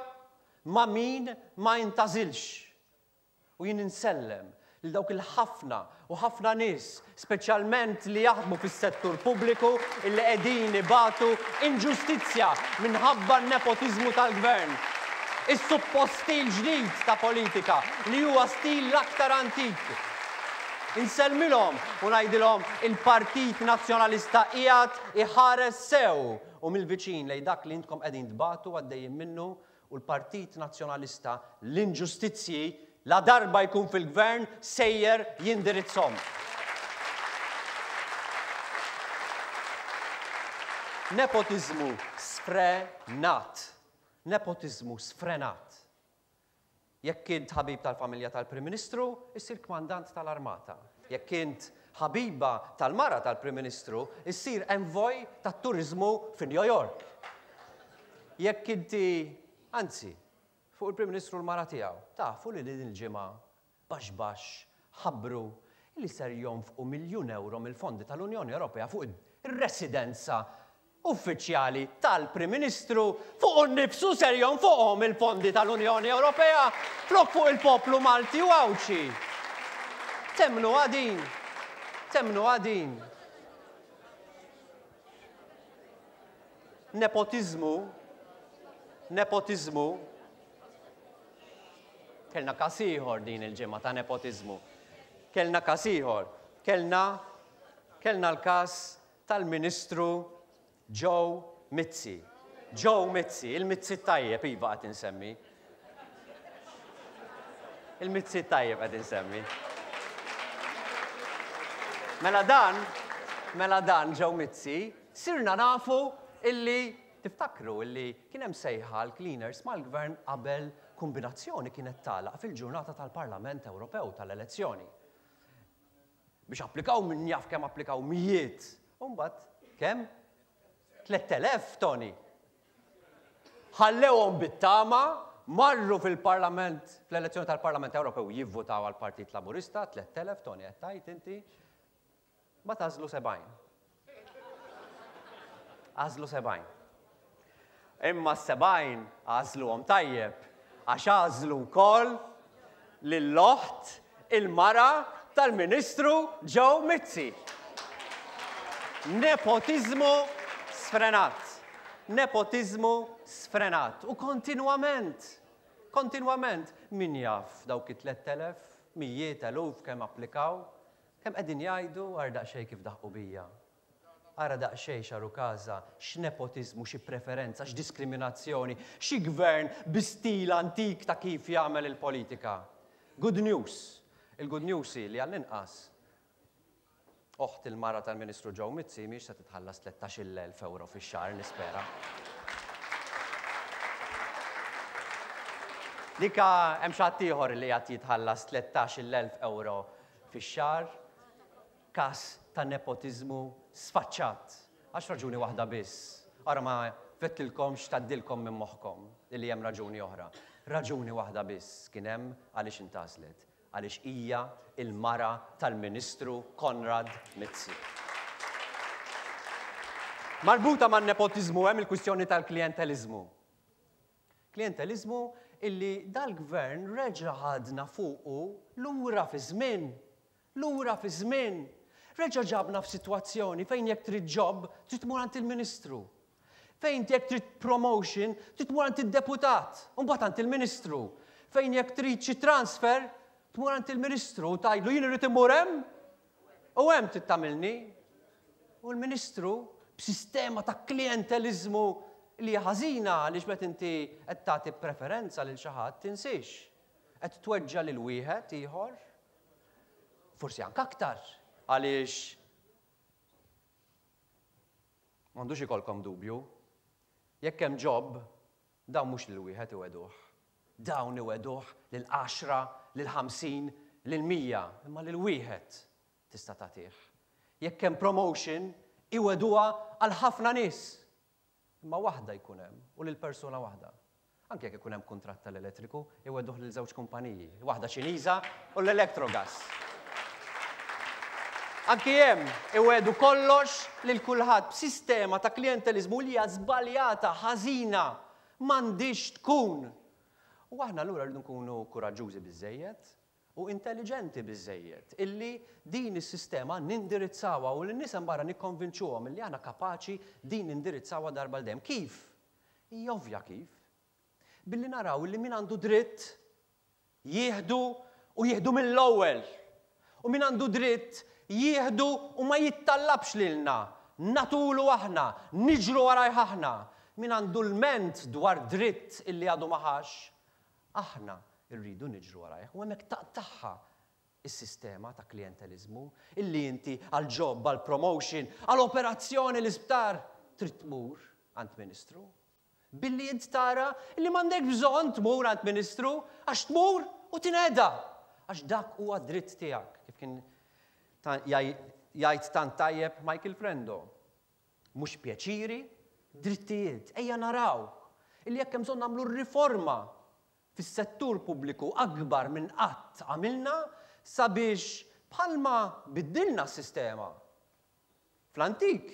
ma' min ma jintażilx. U jien insellem lil dawk il-ħafna u ħafna nies, speċjalment li jaħdmu fis-settur pubbliku, illi qegħdin ibatu inġustizzja minħabba n-nepotiżmu tal-gvern. Is-suppost stil ġdid ta' politika li huwa stil l-aktar antik. Insellmilhom u ngħidilhom il-Partit Nazzjonalista qiegħed iħares sew u mill-viċin lejn dak li intkom qegħdin tbatu għaddejjin minnu, u l-Partit Nazzjonalista l-inġustizzji la darba jkun fil-gvern sejjer jindirizzhom. Nepotiżmu sfrenat. Nepotiżmu sfrenat. Jekk int ħabib tal-familja tal-Prim Ministru, issir kmandant tal-Armata. Jekk int ħabiba tal-mara tal-Prim Ministru, issir envoj tat-turiżmu fi New York. Jekk inti, anzi, fuq il-Prim Ministru l-mara tiegħu, tafu li din il-ġimgħa baxx baxx ħabbru li ser jonfqu miljun euro mill-fondi tal-Unjoni Ewropea fuq ir-residenza uffiċjali tal-Prim Ministru, fuq innifsu ser jonfoqhom il-fondi tal-Unjoni Ewropea flok fuq il-poplu Malti u Għawdxi. Temnu għadin, temnu għadin. Nepotiżmu, nepotiżmu. Kellna każ ieħor din il-ġimgħa ta' nepotiżmu. Kellna każ ieħor. Kellna, kellna l-każ tal-Ministru Joe Mizzi. Joe Mizzi, il-Mizzi tajjeb iva qed insemmi. Il-Mizzi tajjeb qed insemmi. Mela dan, mela dan Joe Mizzi, sirna nafu illi tiftakru illi kien hemm sejħa l-cleaners mal-gvern qabel kombinazzjoni kienet tagħlaq fil-ġurnata tal-Parlament Ewropew tal-elezzjoni. Biex applikaw min jaf kemm applikaw mijiet. U mbagħad kemm? tlett elef, Tony. Ħallewhom bit-tama, marru fil-Parlament, fl-elezzjoni tal-Parlament Ewropew jivvutaw għall-Partit Laburista, tlett elef, Tony, qed tgħid inti, ma tażlu sebgħin. Għażlu sebgħin. Imma s-sebgħin għażluhom tajjeb, għax għażlu wkoll lill-oħt il-mara tal-Ministru Joe Mizzi. Nepotiżmu sfrenat. Nepotiżmu sfrenat. U kontinwament, kontinwament, min jaf dawk it-tlett elef, mijiet eluf kemm applikaw, kemm qegħdin jgħidu għar daqsxejn kif daħqu bija. Ara daqsxejn xaru każa, x'nepotiżmu, xi preferenza, x'diskriminazzjoni, xi gvern bi stil antik ta' kif jagħmel il-politika. Good news. Il-good news hi li għall-inqas oħt il-mara tal-Ministru Joe Mizzi mhix se titħallas tlettax-il elf euro fix-xahar, nispera. Dika hemm xi ħadd ieħor li qed jitħallas tlettax-il elf euro fix-xahar, każ ta' nepotiżmu sfaċċat. Għax raġuni waħda biss. Ara ma fettilkomx tgħaddilkom minn moħħkom illi hemm raġuni oħra. Raġuni waħda biss kien hemm għaliex intażlet. Għaliex hija il-mara tal-Ministru Konrad Mizzi. Marbuta man-nepotiżmu hemm il-kwistjoni tal-klijenteliżmu. Klijenteliżmu illi dal-gvern reġa' ħadna fuqu lura fi żmien. Lura fi żmien. Reġa' ġabna f'sitwazzjoni fejn jekk trid job, trid tmur għand il-Ministru. Fejn jekk trid promotion, trid tmur għand id-deputat, u mbagħad għand il-Ministru. Fejn jekk trid xi transfer, tmur għand il-Ministru u tgħidlu jien irid immur hemm u hemm trid tagħmilni. U l-Ministru b'sistema ta' klijenteliżmu li hija ħażina għaliex meta inti qed tagħti preferenza lil xi ħadd tinsiex. Qed tweġġa' lil wieħed ieħor, forsi anke aktar, għaliex m'għandux ikollkom dubju. Jekk hemm job, dawn mhux lil wieħed iweduh. Dawn iweduh lil għaxra, lil ħamsin, lil mija, imma lil wieħed tista' tagħtih. Jekk hemm promotion, iweduha għal ħafna nies. Imma waħda jkun hemm u lil persuna waħda. Anke jekk ikun hemm kuntratt tal-elettriku, iweduh lil żewġ kumpaniji, waħda Ċiniża u l-Electrogas. Anki hemm iwedu kollox lil kulħadd b'sistema ta' klijenteliżmu li hija żbaljata, ħażina, m'għandix tkun. U aħna allura rridu nkunu kuraġġużi biżejjed u intelligenti biżejjed illi din is-sistema nindirizzawha u lin-nies hemm barra nikkonvinċuhom illi aħna kapaċi din nindirizzawha darba l dejjem. Kif? Hija ovvja kif. Billi naraw illi min għandu dritt jieħdu u jieħdu mill-ewwel. U min għandu dritt jieħdu u ma jittallabx lilna, natulu aħna, niġru warajh aħna. Min għandu l-ment dwar dritt illi għadu maħax, aħna rridu niġru warajh. U hemmhekk taqtagħha is-sistema ta' klijenteliżmu illi inti għal job, għal promotion, għal operazzjoni l-isptar trid tmur għand ministru. Billi int tara illi m'għandek bżonn tmur għand ministru għax tmur u tinqeda. Għax dak huwa dritt tiegħek, kif kien jgħid tant tajjeb Michael Frendo. Mhux pjaċiri, drittijiet. Ejja naraw illi jekk hemm bżonn nagħmlu riforma fis-settur pubbliku akbar minn qatt għamilna sabiex bħalma biddilna s-sistema. Fl-antik,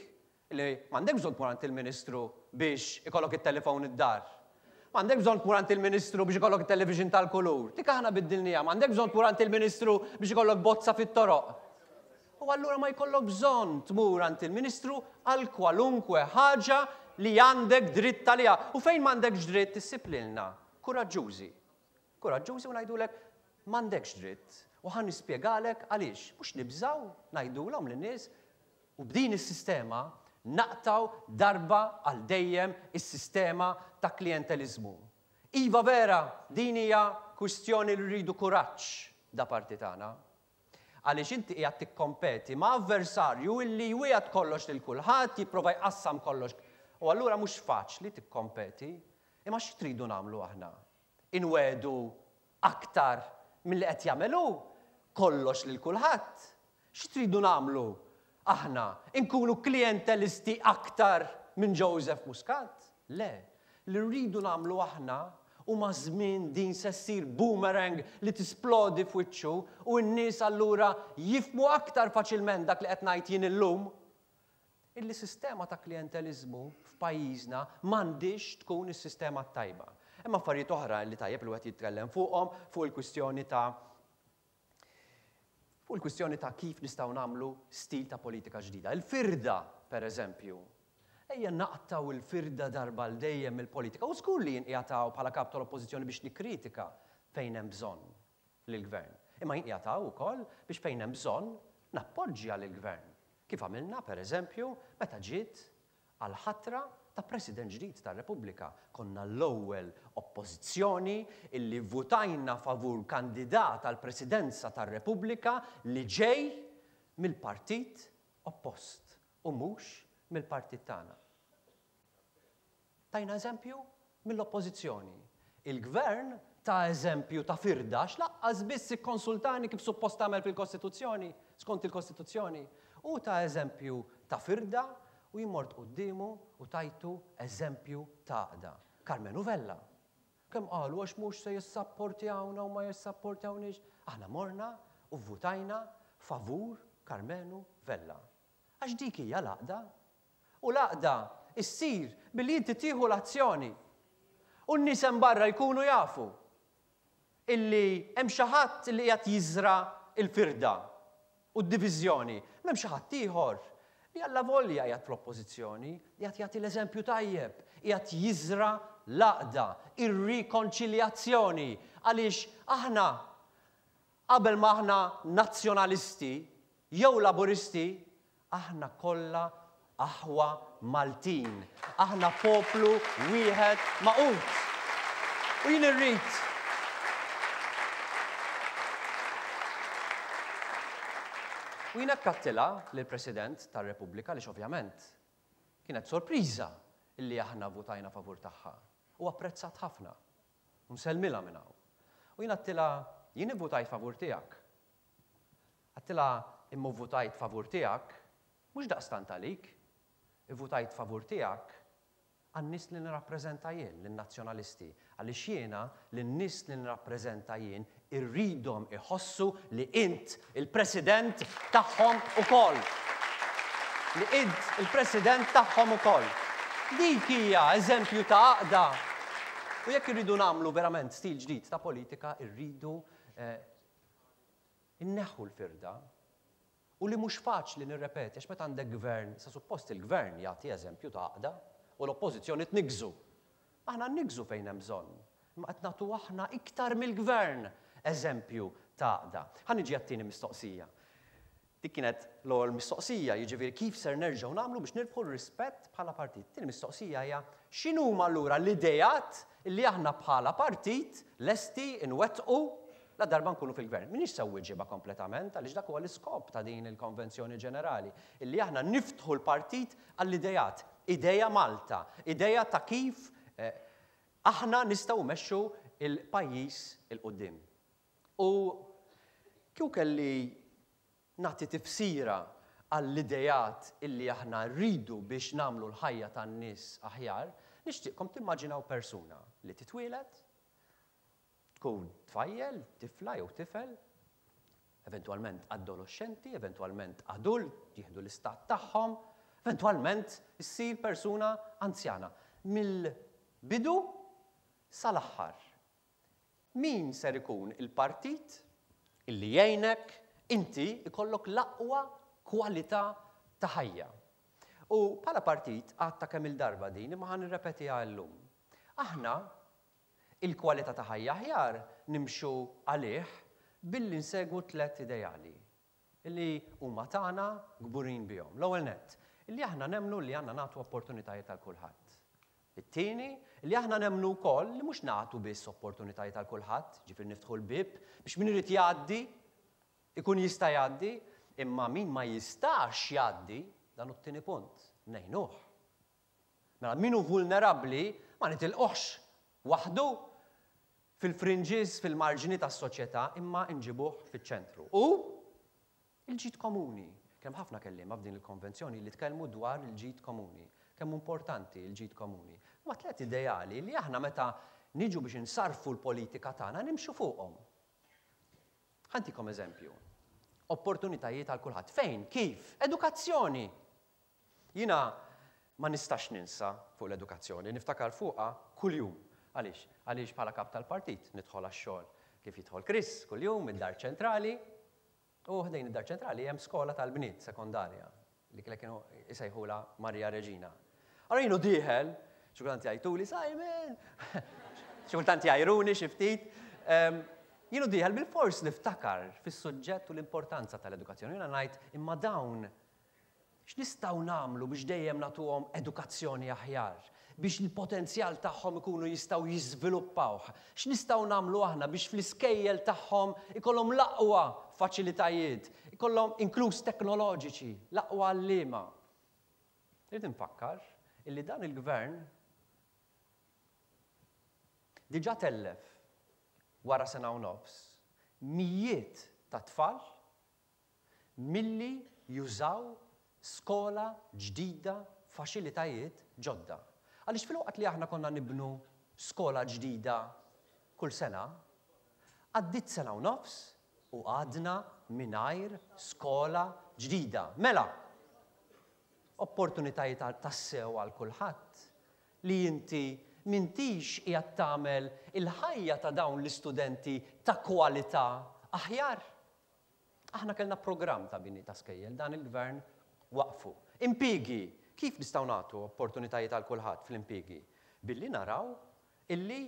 li m'għandek bżonn tmur għand il-ministru biex ikollok it-telefon id-dar. M'għandek bżonn tmur għand il-ministru biex ikollok it-television tal-kulur. Dik aħna biddilniha, m'għandek bżonn tmur għand il-ministru biex ikollok bozza fit-toroq. U allura ma jkollok bżonn tmur għand il-ministru għal kwalunkwe ħaġa li għandek dritt għaliha. U fejn m'għandekx dritt issib lilna. Kuraġġużi. Kuraġġużi u ngħidulek m'għandekx dritt. U ħa nispjegalek għaliex. Mhux nibżaw ngħidulhom lin-nies u b'din is-sistema naqtaw darba għal dejjem is-sistema ta' klijenteliżmu. Iva vera, din hija kwistjoni li rridu kuraġġ da parti tagħna. Għaliex inti qiegħed tikkompeti ma' avversarju illi jwiegħed kollox lil kulħadd, jipprova jqassam kollox. U allura mhux faċli tikkompeti. Imma xi tridu nagħmlu aħna? Inwedu aktar milli qed jagħmelu kollox lil kulħadd. Xi tridu nagħmlu aħna? Inkunu klijentelisti aktar minn Joseph Muscat? Le, li rridu nagħmlu aħna u ma' żmien din se ssir boomerang li tisplodi f'wiċċu u n-nies allura jifhmu aktar faċilment dak li qed ngħid jien illum. Illi sistema ta' klijenteliżmu f'pajjiżna m'għandix tkun is-sistema tajba. Imma affarijiet oħra li tajjeb li wieħed jitkellem fuqhom fuq il-kwistjoni ta' fuq il-kwistjoni ta' kif nistgħu nagħmlu stil ta' politika ġdida. Il-firda, per eżempju. Ejja naqtaw il-firda darba l dejjem mill-politika. U żgur li jien qiegħed hawn bħala kap tal-Oppożizzjoni biex nikkritika fejn hemm bżonn lill-gvern. Imma jien qiegħed hawn ukoll biex fejn hemm bżonn nappoġġja lill-gvern. Kif għamilna, per eżempju, meta ġiet għal-ħatra ta' President ġdid tar-Repubblika. Konna l-ewwel oppożizzjoni illi votajna favur kandidat għal presidenza tar-Repubblika li ġej mill-partit oppost u mhux mill-partit tagħna. Tajna eżempju mill-oppożizzjoni. Il-gvern ta' eżempju ta' firda x'laqqas biss ikkonsultani kif suppost tagħmel fil-Kostituzzjoni, skont il-Kostituzzjoni. U ta' eżempju ta' firda u jien mort quddiemu u tajtu eżempju ta' għaqda. Karmenu Vella. Kemm qalu għax mhux se jissapportjawna u ma jissapportjawniex. Aħna morna u vvutajna favur Karmenu Vella. Għax dik hija l-għaqda. U l-għaqda issir billi inti tieħu l-azzjoni. U n-nies hemm barra jkunu jafu illi hemm xi ħadd li qiegħed jiżra l-firda u d-diviżjoni. M'hemm xi ħadd ieħor li allavolja qiegħed fl-oppożizzjoni, qiegħed jagħti l-eżempju tajjeb, qiegħed jiżra l-għaqda, ir-rikonċiljazzjoni, għaliex aħna qabel ma aħna nazzjonalisti jew laburisti, aħna kollha aħwa Maltin. Aħna poplu wieħed magħqud. U jien irrid U jien akkattilha lill-President tar-Repubblika li ovvjament kienet sorpriża illi aħna votajna favur tagħha. U apprezzat ħafna. U nsellmilha minn hawn. U jien għedtilha, jien ivvutajt favur tiegħek. Għedtilha imma vvutajt favur tiegħek mhux daqstant għalik, ivvutajt favur tiegħek għan-nies li nirrappreżenta jien, lin-nazzjonalisti, għaliex jiena lin-nies li nirrappreżenta jien irridhom iħossu li int il-President tagħhom ukoll. Li int il-President tagħhom ukoll. Dik hija eżempju ta' għaqda. U jekk irridu nagħmlu verament stil ġdid ta' politika, irridu eh, inneħħu l-firda. U li mhux faċli nirrepeti, għax meta għandek gvern, sa suppost il-gvern jagħti eżempju ta' għaqda u l-oppożizzjoni tniggżu. Aħna nniggżu fejn hemm bżonn, imma qed nagħtu aħna iktar mill-gvern eżempju ta' għaqda. Ħa niġi għat-tieni mistoqsija. Dik kienet l-ewwel mistoqsija, jiġifieri kif ser nerġgħu nagħmlu biex nirbħu r-rispett bħala partit. Tieni mistoqsija hija x'inhuma allura l-idejat li aħna bħala partit lesti nwettqu la darba nkunu fil-gvern. Minix se wieġibha kompletament, għaliex dak huwa l-iskop ta' din il-Konvenzjoni Ġenerali, illi aħna niftħu l-partit għall-idejat, ideja Malta, ideja ta' kif eh, aħna nistgħu mmexxu il-pajjiż il quddiem. U kieku kelli nagħti tifsira għall-idejat illi aħna rridu biex nagħmlu l-ħajja tan-nies aħjar, nixtieqkom timmaġinaw persuna li titwieled, tkun tfajjel, tifla jew tifel, eventwalment adolescenti, eventwalment adult, jieħdu l-istat tagħhom, eventwalment issir persuna anzjana. Mill-bidu sal-aħħar. Min ser ikun il-partit illi jgħinek inti ikollok l-aqwa kwalità ta' ħajja? U bħala partit għadta kemm il-darba din imma ħa nirrepetiha llum. Aħna il-kwalità ta' ħajja aħjar nimxu għalih billi nsegwu tliet ideali illi huma tagħna kburin bihom. L-ewwel nett, illi aħna nemmnu li għandna nagħtu opportunitajiet għal kulħadd. It-tieni, li aħna nemmnu wkoll li mhux nagħtu biss opportunitajiet għal kulħadd, ġifieri niftħu l-bieb biex min irid jgħaddi ikun jista' jgħaddi, imma min ma jistax jgħaddi, dan hu t-tieni punt, ngħinuh. Mela min hu vulnerabbli ma nitilquhx waħdu fil-fringes, fil-marġini tas-soċjetà, imma nġibuh fiċ-ċentru. U il-ġid komuni. Kemm ħafna kelliema f'din il-konvenzjoni li tkellmu dwar il-ġid komuni. Kemm importanti il-ġid komuni. Ma tliet ideali li aħna meta niġu biex insarfu l-politika tagħna nimxu fuqhom. Ħa ntikom eżempju. Opportunitajiet għal kulħadd. Fejn? Kif? Edukazzjoni. Jiena ma nistax ninsa fuq l-edukazzjoni, niftakar fuqha kuljum. Għaliex? Għaliex bħala kap tal-partit nidħol għax-xogħol kif jidħol Chris kuljum mid-dar ċentrali, u ħdejn id-dar ċentrali hemm skola tal-bniet sekondarja li kienu jsejħulha Maria Regina. Allora jienu dieħel, xi kultant jgħajtuli Simon, xi kultant jgħajruni xi ftit. Jienu dieħel bil-fors niftakar fis-suġġett u l-importanza tal-edukazzjoni. Jiena ngħid imma dawn x'nistgħu nagħmlu biex dejjem nagħtuhom edukazzjoni aħjar, biex il-potenzjal tagħhom ikunu jistgħu jiżviluppawh. X'nistgħu nagħmlu aħna biex fl-iskejjel tagħhom ikollhom l-aqwa faċilitajiet, ikollhom inkluż teknoloġiċi, l-aqwa għalliema. Irrid infakkar illi dan il-gvern diġà tellef wara sena u nofs mijiet ta' tfal milli jużaw skola ġdida, faċilitajiet ġodda. Għaliex fil-waqt li aħna konna nibnu skola ġdida kull sena, għaddit sena u nofs u għadna mingħajr skola ġdida. Mela, opportunitajiet tassew għal kulħadd li inti m'intix qiegħed tagħmel il-ħajja ta' dawn l-istudenti ta' kwalità aħjar. Aħna kellna programm ta' bini ta' skejjel, dan il-gvern waqfu. Impjiegi, kif nistgħu nagħtu opportunitajiet għal kulħadd fl-impjiegi? Billi naraw illi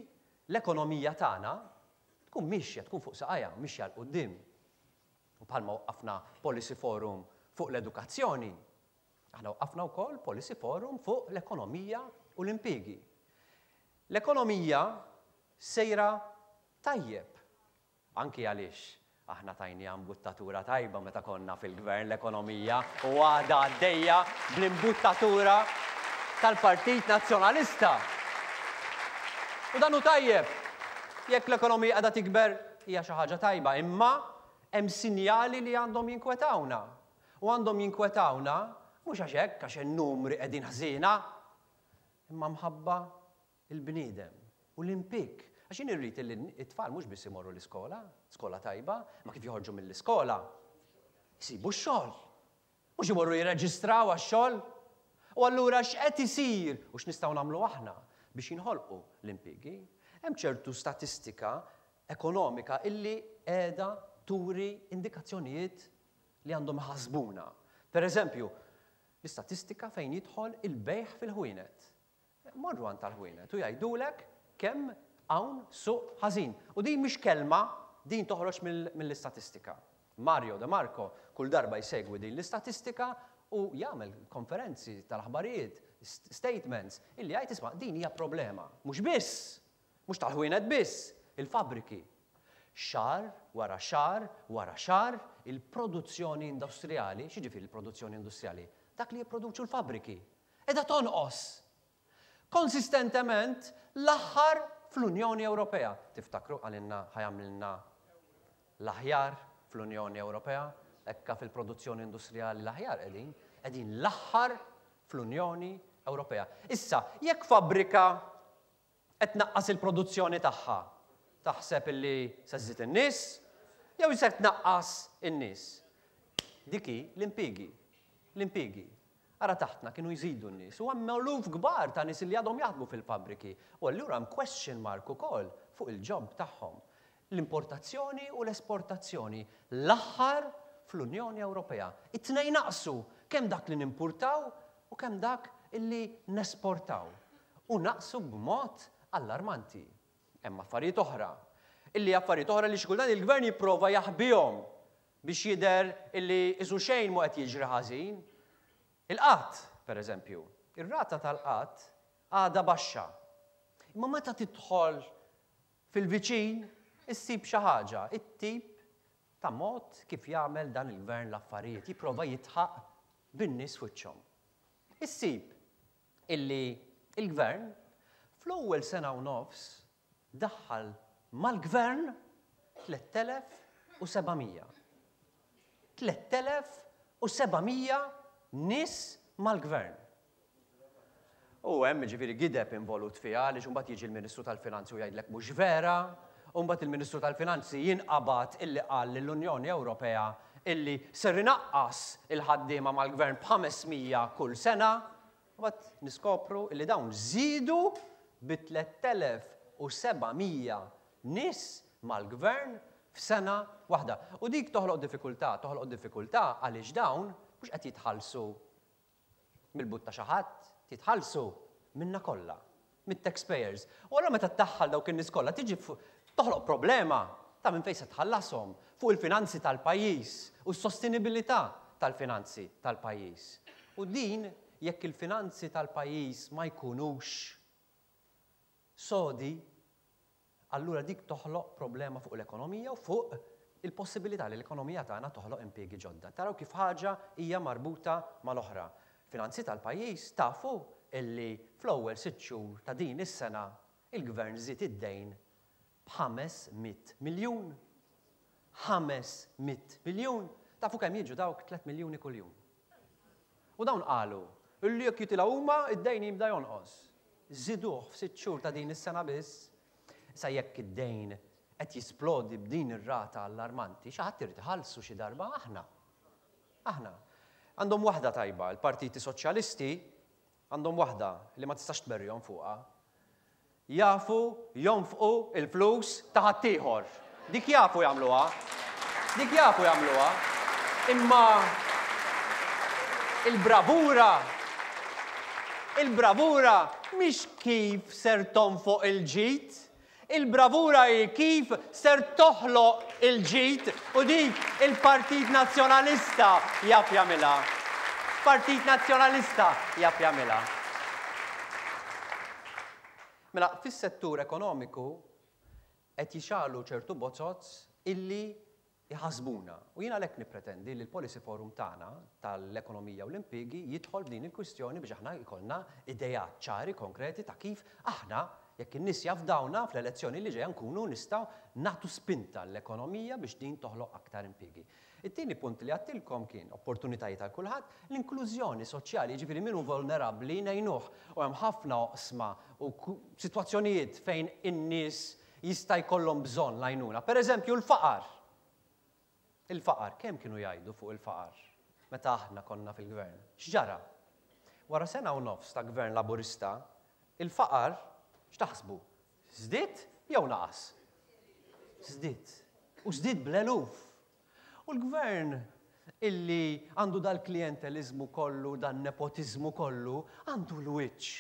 l-ekonomija tagħna tkun mixja, tkun fuq saqajha, mixja 'l quddiem. U bħalma waqqafna Policy Forum fuq l-edukazzjoni, aħna waqqafna wkoll Policy Forum fuq l-ekonomija u l-impjiegi. L-ekonomija sejra tajjeb, anki għaliex aħna tajnieha imbuttatura tajba meta konna fil-gvern l-ekonomija u għadha għaddejja bl-imbuttatura tal-Partit Nazzjonalista. U dan hu tajjeb, jekk l-ekonomija għadha tikber hija xi ħaġa tajba, imma hemm sinjali li għandhom jinkwetawna. U għandhom jinkwetawna mhux għax hekk għax in-numri qegħdin ħżiena, imma mħabba il-bniedem u l-impjieg. Għax jien irrid li t-tfal mhux biss imorru l-iskola, skola tajba, ma kif joħorġu mill-iskola, jsibu x-xogħol. Mhux imorru jirreġistraw għax-xogħol. U allura x'qed isir u x'nistgħu nagħmlu aħna biex jinħolqu l-impjiegi? Hemm ċertu statistika ekonomika illi qiegħda turi indikazzjonijiet li għandhom ħasbuna. Per eżempju, l-istatistika fejn jidħol il-bejgħ fil-ħwienet. Morru għand tal-ħwienet u jgħidulek kemm hawn suq ħażin. U din mhix kelma, din toħroġ mill-istatistika. Mario De Marco kull darba jsegwi din l-istatistika u jagħmel konferenzi tal-aħbarijiet, statements, illi jgħid isma' din hija problema. Mhux biss, mhux tal-ħwienet biss, il-fabriki. Xahar wara xahar wara xahar il-produzzjoni industrijali, x'jiġifieri il-produzzjoni industrijali? Dak li jipproduċu l-fabriki. Qiegħda tonqos. Konsistentement l-aħħar fl-Unjoni Ewropea. Tiftakru qalilna ħa jagħmlilna l-aħjar fl-Unjoni Ewropea, ekka fil-produzzjoni industrijali l-aħjar qegħdin, qegħdin l-aħħar fl-Unjoni Ewropea. Issa, jekk fabbrika qed tnaqqas il-produzzjoni tagħha, taħseb illi se żżid in-nies jew se tnaqqas in-nies? Dik hi l-impjiegi. L-impjiegi. Ara taħtna kienu jżidu n-nies u hemm eluf kbar ta' nies li għadhom jaħdmu fil-fabbriki. U allura hemm question mark ukoll fuq il-job tagħhom. L-importazzjoni u l-esportazzjoni l-aħħar fl-Unjoni Ewropea. It-tnejn naqsu kemm dak li nimpurtaw u kemm dak illi nesportaw. U naqsu b'mod allarmanti. Hemm affarijiet oħra. Illi affarijiet oħra li xi kultant il-gvern jipprova jaħbihom biex jidher illi isu xejn mu qed jiġri ħażin. Il-qatt, per eżempju, ir-rata tal-qatt għadha baxxa. Imma meta tidħol fil-viċin, issib xi ħaġa, it-tip ta' mod kif jagħmel dan il-gvern l-affarijiet, jipprova jidħaq bin-nies fuċċhom. Issib illi il-gvern fl-ewwel sena u nofs daħħal mal-gvern tliet elef u seba' mija. tliet elef u seba' mija nies mal-gvern. U hemm ġifieri gideb involut fiha għaliex imbagħad jiġi l-Ministru tal-Finanzi u jgħidlek mhux vera, u mbagħad il-Ministru tal-Finanzi jinqabad illi qal lill-Unjoni Ewropea illi ser inaqqas il-ħaddiema mal-gvern b'ħames mija kull sena, u mbagħad niskopru illi dawn żiedu bi tliet elef u seba' mija nies mal-gvern f'sena waħda. U dik toħloq diffikultà, toħloq diffikultà għaliex dawn mhux qed jitħallsu mill-but ta' xi ħadd, jitħallsu minna kollha, mit-taxpayers. U allura meta tdaħħal dawk in-nies kollha tiġi toħloq problema ta' minn fejn se tħallashom fuq il-finanzi tal-pajjiż u s-sostenibilità tal-finanzi tal-pajjiż. U din jekk il-finanzi tal-pajjiż ma jkunux sodi, allura dik toħloq problema fuq l-ekonomija u fuq il-possibilità li l-ekonomija tagħna toħloq impjiegi ġodda. Taraw kif ħaġa hija marbuta mal-oħra. Finanzi tal-pajjiż tafu illi fl-ewwel sitt xhur ta' din is-sena il-gvern żied id-dejn b'ħames mitt miljun. Ħames mitt miljun. Tafu kemm jiġu dawk tliet miljuni kuljum. U dawn qalu illi jekk jitilgħu huma id-dejn jibda jonqos. Żiduh f'sitt xhur ta' din is-sena biss. Sa jekk id-dejn qed jisplodi b'din ir-rata allarmanti, xi ħadd irid iħallsu xi darba aħna. Aħna. Għandhom waħda tajba, il-Partiti Soċjalisti għandhom waħda li ma tistax tberrihom fuqha. Jafu jonfqu il-flus ta' ħaddieħor. Dik jafu jagħmluha. Dik jafu jagħmluha. Imma il-bravura il-bravura mhix kif ser tonfoq il-ġid, il-bravura hi kif ser toħloq il-ġid u dik il-Partit Nazzjonalista jaf jagħmilha. Partit Nazzjonalista jaf jagħmilha. Mela, fis-settur ekonomiku qed jixgħelu ċertu bozoz illi jħasbuna. U jiena għalhekk nippretendi li l-Policy Forum tagħna tal-ekonomija u l-impjiegi jidħol f'din il-kwistjoni biex aħna jkollna idejat ċari konkreti ta' kif aħna jekk in-nies jafdawna fl-elezzjoni li ġejja nkunu nistgħu nagħtu spinta l-ekonomija biex din toħloq aktar impjiegi. It-tieni punt li għedtilkom kien opportunitajiet għal kulħadd, l-inklużjoni soċjali, jiġifieri min hu vulnerabbli ngħinuh u hemm ħafna oqsma u sitwazzjonijiet fejn in-nies jista' jkollhom bżonn l-għajnuna. Per eżempju l-faqar. Il-faqar, kemm kienu jgħidu fuq il-faqar meta aħna konna fil-gvern? X'ġara? Wara sena u nofs ta' gvern laburista, il-faqar x'taħsbu? Żdied jew naqas? Żdied. U żdied bl-eluf. U l-gvern illi għandu dal-klientelizmu kollu, dan-nepotiżmu kollu, għandu l-wiċċ.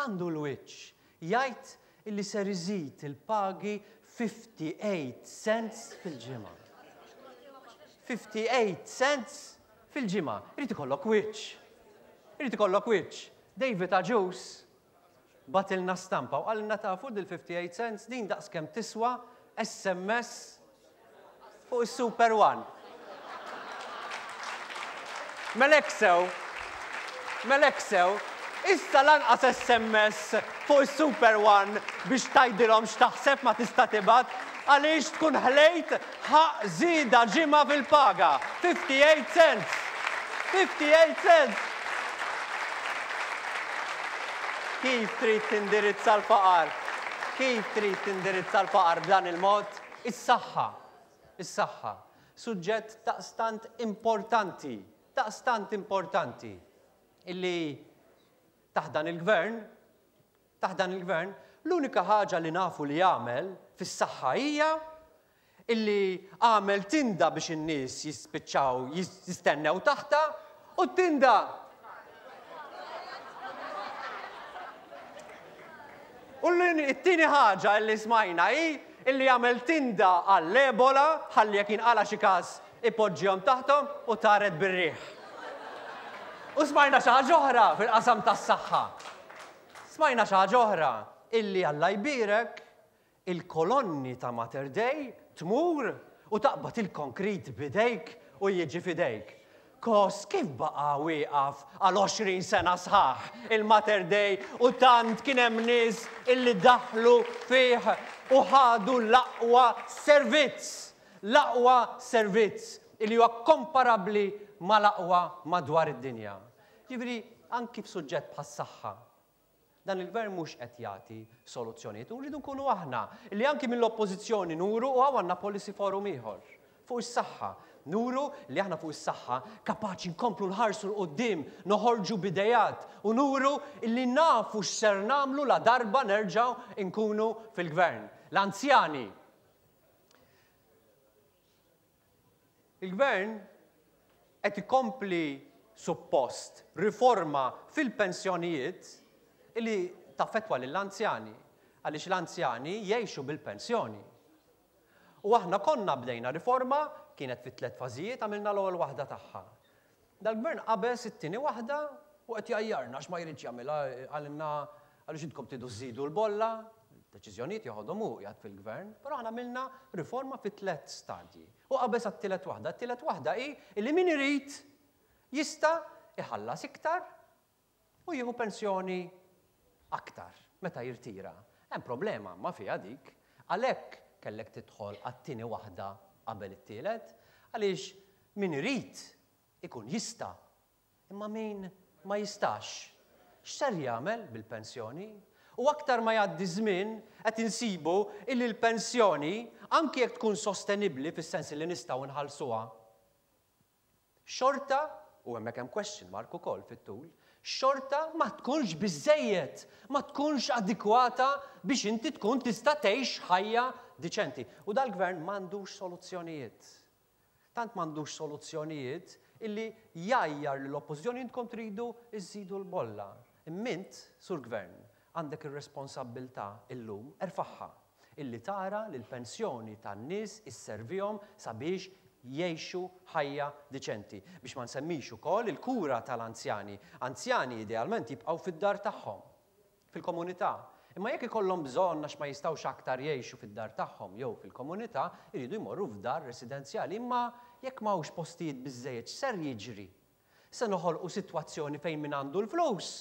Għandu l-wiċċ. Jgħid illi ser iżid il-pagi fifty-eight cents fil-ġimgħa. fifty-eight cents fil-ġimgħa. Irid ikollok wiċċ. Irid ikollok wiċċ. David Agius batilna stampa u qalilna tafu dil fifty-eight cents din daqskemm tiswa S M S fuq is-Super One. Melek sew, melek sew, issa lanqas S M S fuq is-Super One biex tgħidilhom x'taħseb ma tista' tibgħat għaliex tkun ħlejt ħaq żieda ġimgħa fil-paga. fifty-eight cents. fifty-eight cents. Kif trid tindirizza l-faqar? Kif trid tindirizza l-faqar b'dan il-mod? Is-saħħa. Is-saħħa. Suġġett daqstant importanti, daqstant importanti, illi taħt dan il-gvern, taħt dan il-gvern, l-unika ħaġa li nafu li jagħmel fis-saħħa hija illi għamel tinda biex in-nies jispiċċaw jistennew taħta u tinda. U t-tieni ħaġa li smajna hi illi għamel tinda għall-Ebola ħalli jekk jinqala xi każ ipoġġihom taħthom u taret bir-riħ. U smajna xi ħaġa oħra fil-qasam tas-saħħa. Smajna xi ħaġa oħra illi Alla jbierek il-kolonni ta' Mater Dei tmur u taqbad il-konkrit bidejk u jiġi fidejk. Kos kif baqa' wieqaf għal għoxrin sena sħaħ il-Mater Dei u tant kien hemm nies illi daħlu fih u ħadu l-aqwa servizz, l-aqwa servizz illi huwa komparabbli mal-aqwa madwar id-dinja. Ġifieri anki f'suġġett bħas-saħħa, dan il-gvern mhux qed jagħti soluzzjonijiet u rridu nkunu aħna li anki mill-oppożizzjoni nuru u hawn għandna policy forum ieħor fuq is-saħħa. Nuru li aħna fuq is-saħħa kapaċi nkomplu nħarsu 'l quddiem, noħorġu bidejat u nuru li nafu x'ser nagħmlu la darba nerġgħu nkunu fil-gvern. L-anzjani. Il-gvern qed ikompli suppost riforma fil-pensjonijiet illi taffettwa lill-anzjani, għaliex l-anzjani jgħixu bil-pensjoni. U aħna konna bdejna riforma, kienet fi tliet fażijiet, għamilna l-ewwel waħda tagħha. Dal-gvern qabeż it-tieni waħda u qed jgħajjarna għax ma jridx jagħmilha, qalilna għaliex intkom tridu żżidu l-bolla, deċiżjonijiet joħodhom hu qiegħed fil-gvern, però aħna għamilna riforma fi tliet stadji. U qabeż għat-tielet waħda. It-tielet waħda hi li min irid jista' iħallas iktar u jieħu pensjoni aktar meta jirtira. Hemm problema ma fiha dik, għalhekk kellek tidħol għat-tieni waħda qabel it-tielet, għaliex min irid ikun jista', imma min ma jistax. X'ser jagħmel bil-pensjoni? U aktar ma jgħaddi żmien qed insibu illi l-pensjoni, anki jekk tkun sostenibbli fis-sens li nistgħu nħallsuha, xorta, u hemmhekk hemm question mark ukoll fit-tul, xorta ma tkunx biżejjed, ma tkunx adekwata biex inti tkun tista' tgħix ħajja diċenti. U dal-gvern m'għandux soluzzjonijiet. Tant m'għandux soluzzjonijiet illi jgħajjar l-oppożizzjoni intkom tridu iżidu l-bolla. Imma int, sur gvern, għandek ir-responsabbiltà illum erfagħha illi tara li l-pensjoni tan-nies isservihom sabiex jgħixu ħajja diċenti. Biex ma nsemmix ukoll il-kura tal-anzjani. Anzjani idealment jibqgħu fid-dar tagħhom, fil-komunità. Imma jekk ikollhom bżonn għax ma jistgħux aktar jgħixu fid-dar tagħhom jew fil-komunità, iridu jmorru f'dar residenzjali. Imma jekk m'hawnx postijiet biżejjed, x'ser jiġri? Se noħolqu sitwazzjoni fejn min għandu l-flus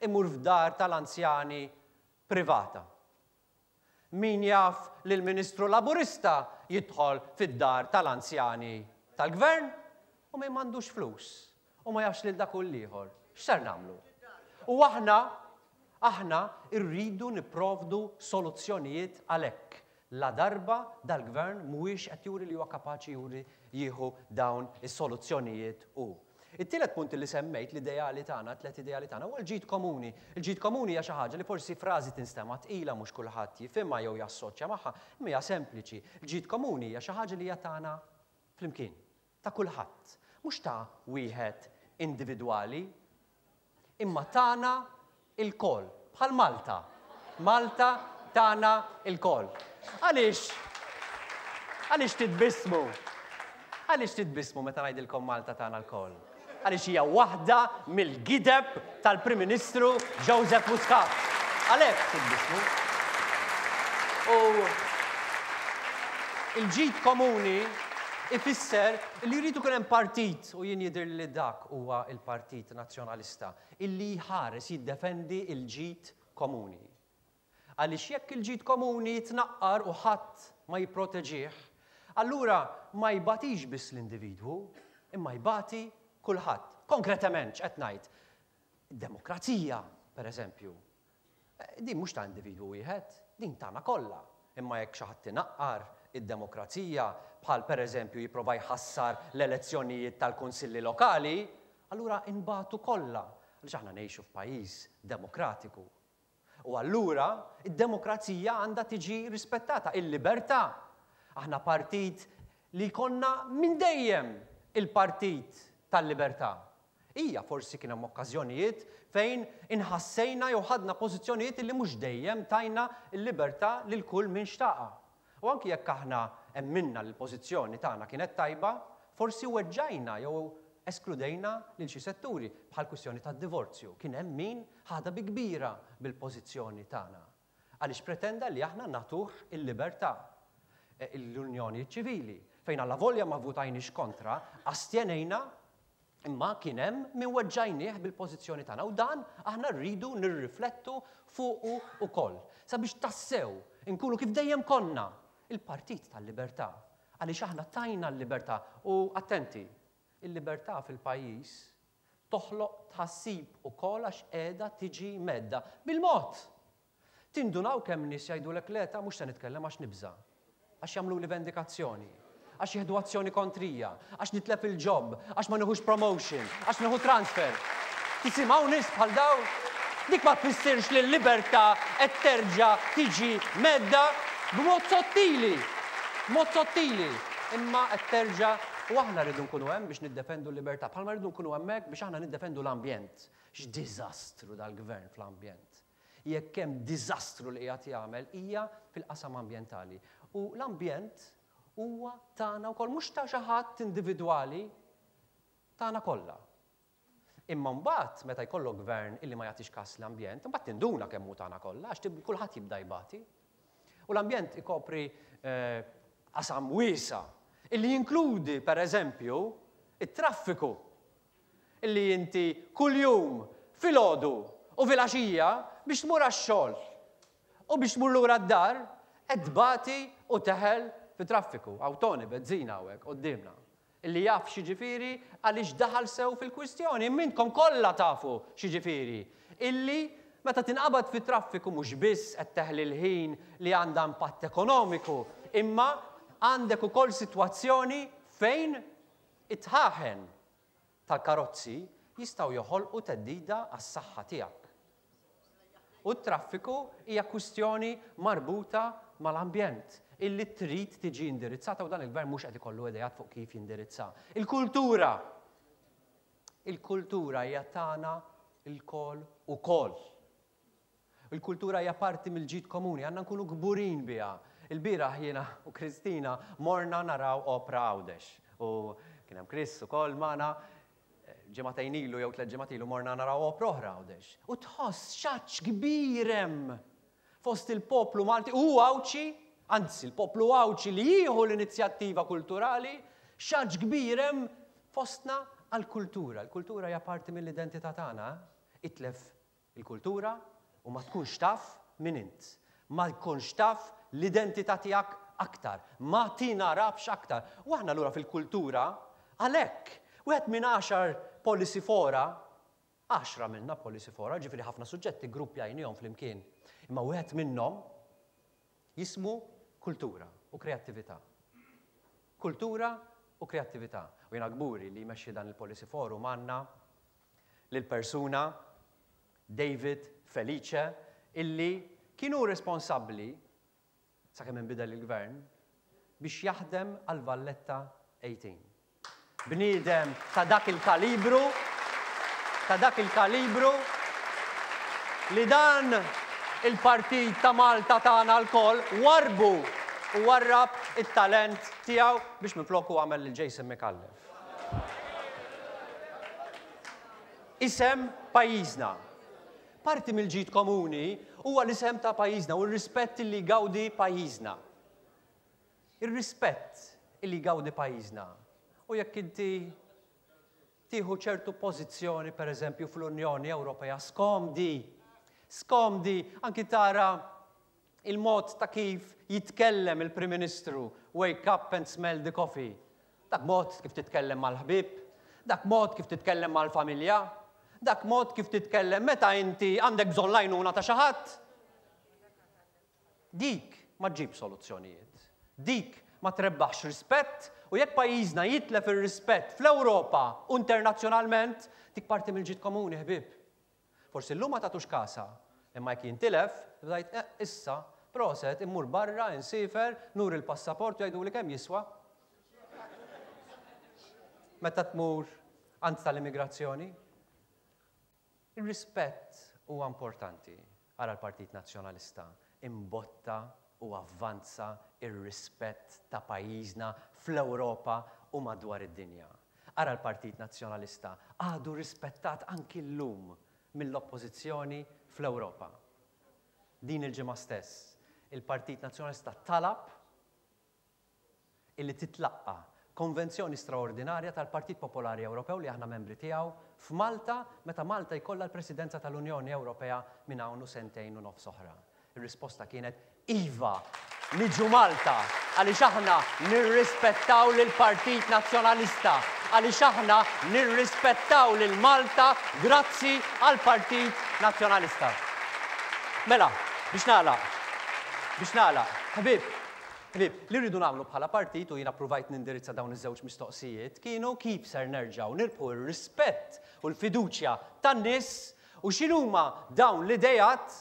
imur f'dar tal-anzjani privata. Min jaf li l-Ministru Laburista jidħol fid-dar tal-anzjani tal-gvern u min m'għandux flus u ma jafx lil dak u l-ieħor. X'ser nagħmlu? U aħna aħna rridu nipprovdu soluzzjonijiet għalhekk. La darba dal-gvern mhuwiex qed juri li huwa kapaċi juri jieħu dawn is-soluzzjonijiet u. It-tielet punt li semmejt, l-ideali tagħna, tliet ideali tagħna, huwa l-ġid komuni. Il-ġid komuni hija xi ħaġa li forsi frażi tinstema' tqila mhux kulħadd jifhimha jew jassoċja magħha, imma hija sempliċi. Il-ġid komuni hija xi ħaġa li hija tagħna flimkien, ta' kulħadd, mhux ta' wieħed individwali, imma tagħna ilkoll, bħal Malta. Malta tagħna ilkoll. Għaliex? Għaliex titbissmu? Għaliex titbissmu meta ngħidilkom Malta tagħna lkoll? Għaliex hija waħda mill-gideb tal-Prim Ministru Joseph Muscat. Għalhekk titbissmu. U il-ġid komuni ifisser li jridu jkun hemm partit, u jien jidher li dak huwa il-Partit Nazzjonalista, illi jħares jiddefendi il-ġid komuni. Għaliex jekk il-ġid komuni jitnaqqar u ħadd ma jipproteġih, allura ma jbatix biss l-individwu, imma jbati kulħadd. Konkretament, x'qed ngħid? Demokrazija, per eżempju. Din mhux ta' individwu wieħed, din tagħna kollha. Imma jekk xi ħadd inaqqar id-demokrazija, bħal per eżempju jipprova jħassar l-elezzjonijiet tal-kunsilli lokali, allura inbatu kollha. Għaliex aħna ngħixu f'pajjiż demokratiku. U allura id-demokrazija għandha tiġi rispettata, il-libertà. Aħna partit li konna minn dejjem il-partit tal-libertà. Ija forsi kien hemm okkażjonijiet fejn inħassejna jew ħadna pożizzjonijiet li mhux dejjem tajna l-libertà lil kull min xtaqa. U anki jekk aħna emminna l-pożizzjoni tagħna kienet tajba, forsi weġġajna jew eskludejna lil xi setturi bħal kwistjoni tad-divorzju. Kien hemm min ħadha bi kbira bil-pożizzjoni tagħna. Għaliex pretenda li aħna nagħtuh il-libertà. L-Unjoni Ċivili, fejn alla volja ma votajniex kontra, astjenejna, imma kien hemm min weġġajnieh bil-pożizzjoni tagħna u dan aħna rridu nirriflettu fuqu ukoll. Sabiex tassew inkunu kif dejjem konna il-Partit tal-Libertà. Għaliex aħna tajna l-libertà u attenti, il-libertà fil-pajjiż toħloq tħassib ukoll għax qiegħda tiġi medda bil-mod. Tindunaw kemm nies jgħidulek le ta' mhux se nitkellem għax nibża', għax jagħmlu li vendikazzjoni, għax jieħdu azzjoni kontrija, għax nitlef il-job, għax ma nieħux promotion, għax nieħu transfer. Tisimgħu nies bħal daw? Dik ma tfissirx li l-libertà qed terġa' tiġi medda b'mod sottili, b'mod sottili, imma qed terġa' u aħna rridu nkunu hemm biex niddefendu l-libertà, bħalma rridu nkunu hemmhekk biex aħna niddefendu l-ambjent. X'diżastru dal-gvern fl-ambjent. Jekk hemm diżastru li qiegħed jagħmel hija fil-qasam ambjentali. U l-ambjent huwa tagħna wkoll, mhux ta' xi ħadd individwali, tagħna kollha. Imma mbagħad meta jkollok gvern illi ma jagħtix kas l-ambjent, imbagħad tinduna kemm hu tagħna kollha għax tib-, kulħadd jibda jbati. U l-ambjent ikopri, eh, qasam wiesa' illi jinkludi per eżempju it-traffiku illi inti kuljum filgħodu u filgħaxija biex tmur għax-xogħol u biex tmur lura d-dar qed tbati u teħel fi traffiku. Hawn Tony Bezzina hawnhekk quddiemna illi jaf x'jiġifieri għaliex daħal sew fil-kwistjoni. Minnkom kollha tafu x'jiġifieri illi Meta tinqabad fit-traffiku mhux biss qed teħli l-ħin li għandha impatt ekonomiku, imma għandek ukoll sitwazzjoni fejn it-tħaħen tal-karozzi jistgħu joħolqu theddida għas-saħħa tiegħek. U t-traffiku hija kwistjoni marbuta mal-ambjent illi trid tiġi indirizzata u dan il-gvern mhux qed ikollu ideat fuq kif jindirizza. Il-kultura. Il-kultura hija tagħna lkoll ukoll. Il-kultura hija parti mill-ġid komuni, għandna nkunu kburin biha. Il-bieraħ jiena u Kristina morna naraw opra Għawdex. U kien hemm Chris ukoll magħna, ġimagħtejn ilu jew tliet ġimgħat ilu morna naraw opra oħra Għawdex. U tħoss xaċ kbir hemm fost il-poplu Malti u Għawdxi, anzi il-poplu Għawdxi li jieħu l-inizjattiva kulturali, xaċ kbir hemm fostna għall-kultura. Il-kultura hija parti mill-identità tagħna. Itlef il-kultura u ma tkunx taf min int. Ma tkunx taf l-identità tiegħek aktar. Ma tinarafx aktar. U aħna allura fil-kultura, għalhekk, wieħed minn għaxar policy fora, għaxra minna policy fora, ġifieri ħafna suġġetti gruppjajnihom flimkien. Imma wieħed minnhom jismu kultura u kreattività. Kultura u kreattività. U jiena kburi li jmexxi dan il-policy forum għandna lil persuna David Felice illi kienu responsabbli sakemm inbidel il-gvern biex jaħdem għal Valletta tmintax. Bniedem ta' dak il-kalibru, ta' dak il-kalibru li dan il-partit ta' Malta tagħna lkoll warbu u warrab it-talent tiegħu biex minfloku għamel lil Jason Micallef. Isem pajjiżna. Parti mill-ġid komuni huwa l-isem ta' pajjiżna u r-rispett li jgawdi pajjiżna. Ir-rispett li jgawdi pajjiżna. U jekk inti tieħu ċertu pożizzjoni, per eżempju, fl-Unjoni Ewropea, skomdi, skomdi, anki tara il-mod ta' kif jitkellem il-Prim Ministru, "Wake up and smell the coffee." Dak mod kif titkellem mal-ħbib, dak mod kif titkellem mal-familja, dak mod kif titkellem meta inti għandek bżonn l-għajnuna ta' xi ħadd. Dik ma ġġib soluzzjonijiet. Dik ma trebbaħx rispett u jekk pajjiżna jitlef ir-rispett fl-Ewropa u internazzjonalment, dik parti mill-ġid komuni, ħbib. Forsi llum ma tagħtux kasha, imma jekk jintilef, bdajt eh, issa, proset, immur barra, insiefer, nuri l-passaport u jgħidu li kemm jiswa. Meta tmur għand tal-immigrazzjoni. Il-rispett huwa importanti. Ara l-Partit Nazzjonalista imbotta u avvanza ir-rispett ta' pajjiżna fl-Ewropa u madwar id-dinja. Ara l-Partit Nazzjonalista għadu rispettat anki llum mill-oppożizzjoni fl-Ewropa. Din il-ġimgħa stess, il-Partit Nazzjonalista talab illi titlaqqa konvenzjoni straordinarja tal-Partit Popolari Ewropew li aħna membri tiegħu f'Malta meta Malta jkollha l-Presidenza tal-Unjoni Ewropea minn hawn u sentejn u nofs oħra. Ir-risposta kienet iva, niġu Malta għaliex aħna nirrispettaw lill-Partit Nazzjonalista, għaliex aħna nirrispettaw lil Malta grazzi għall-Partit Nazzjonalista. Mela, biex nagħlaq, biex nagħlaq, ħbib, ħbib, li rridu nagħmlu bħala partit, u jiena provajt nindirizza dawn iż-żewġ mistoqsijiet, kienu kif ser nerġgħu nirbħu r-rispett u l-fiduċja tan-nies u x'inhuma dawn l-idejat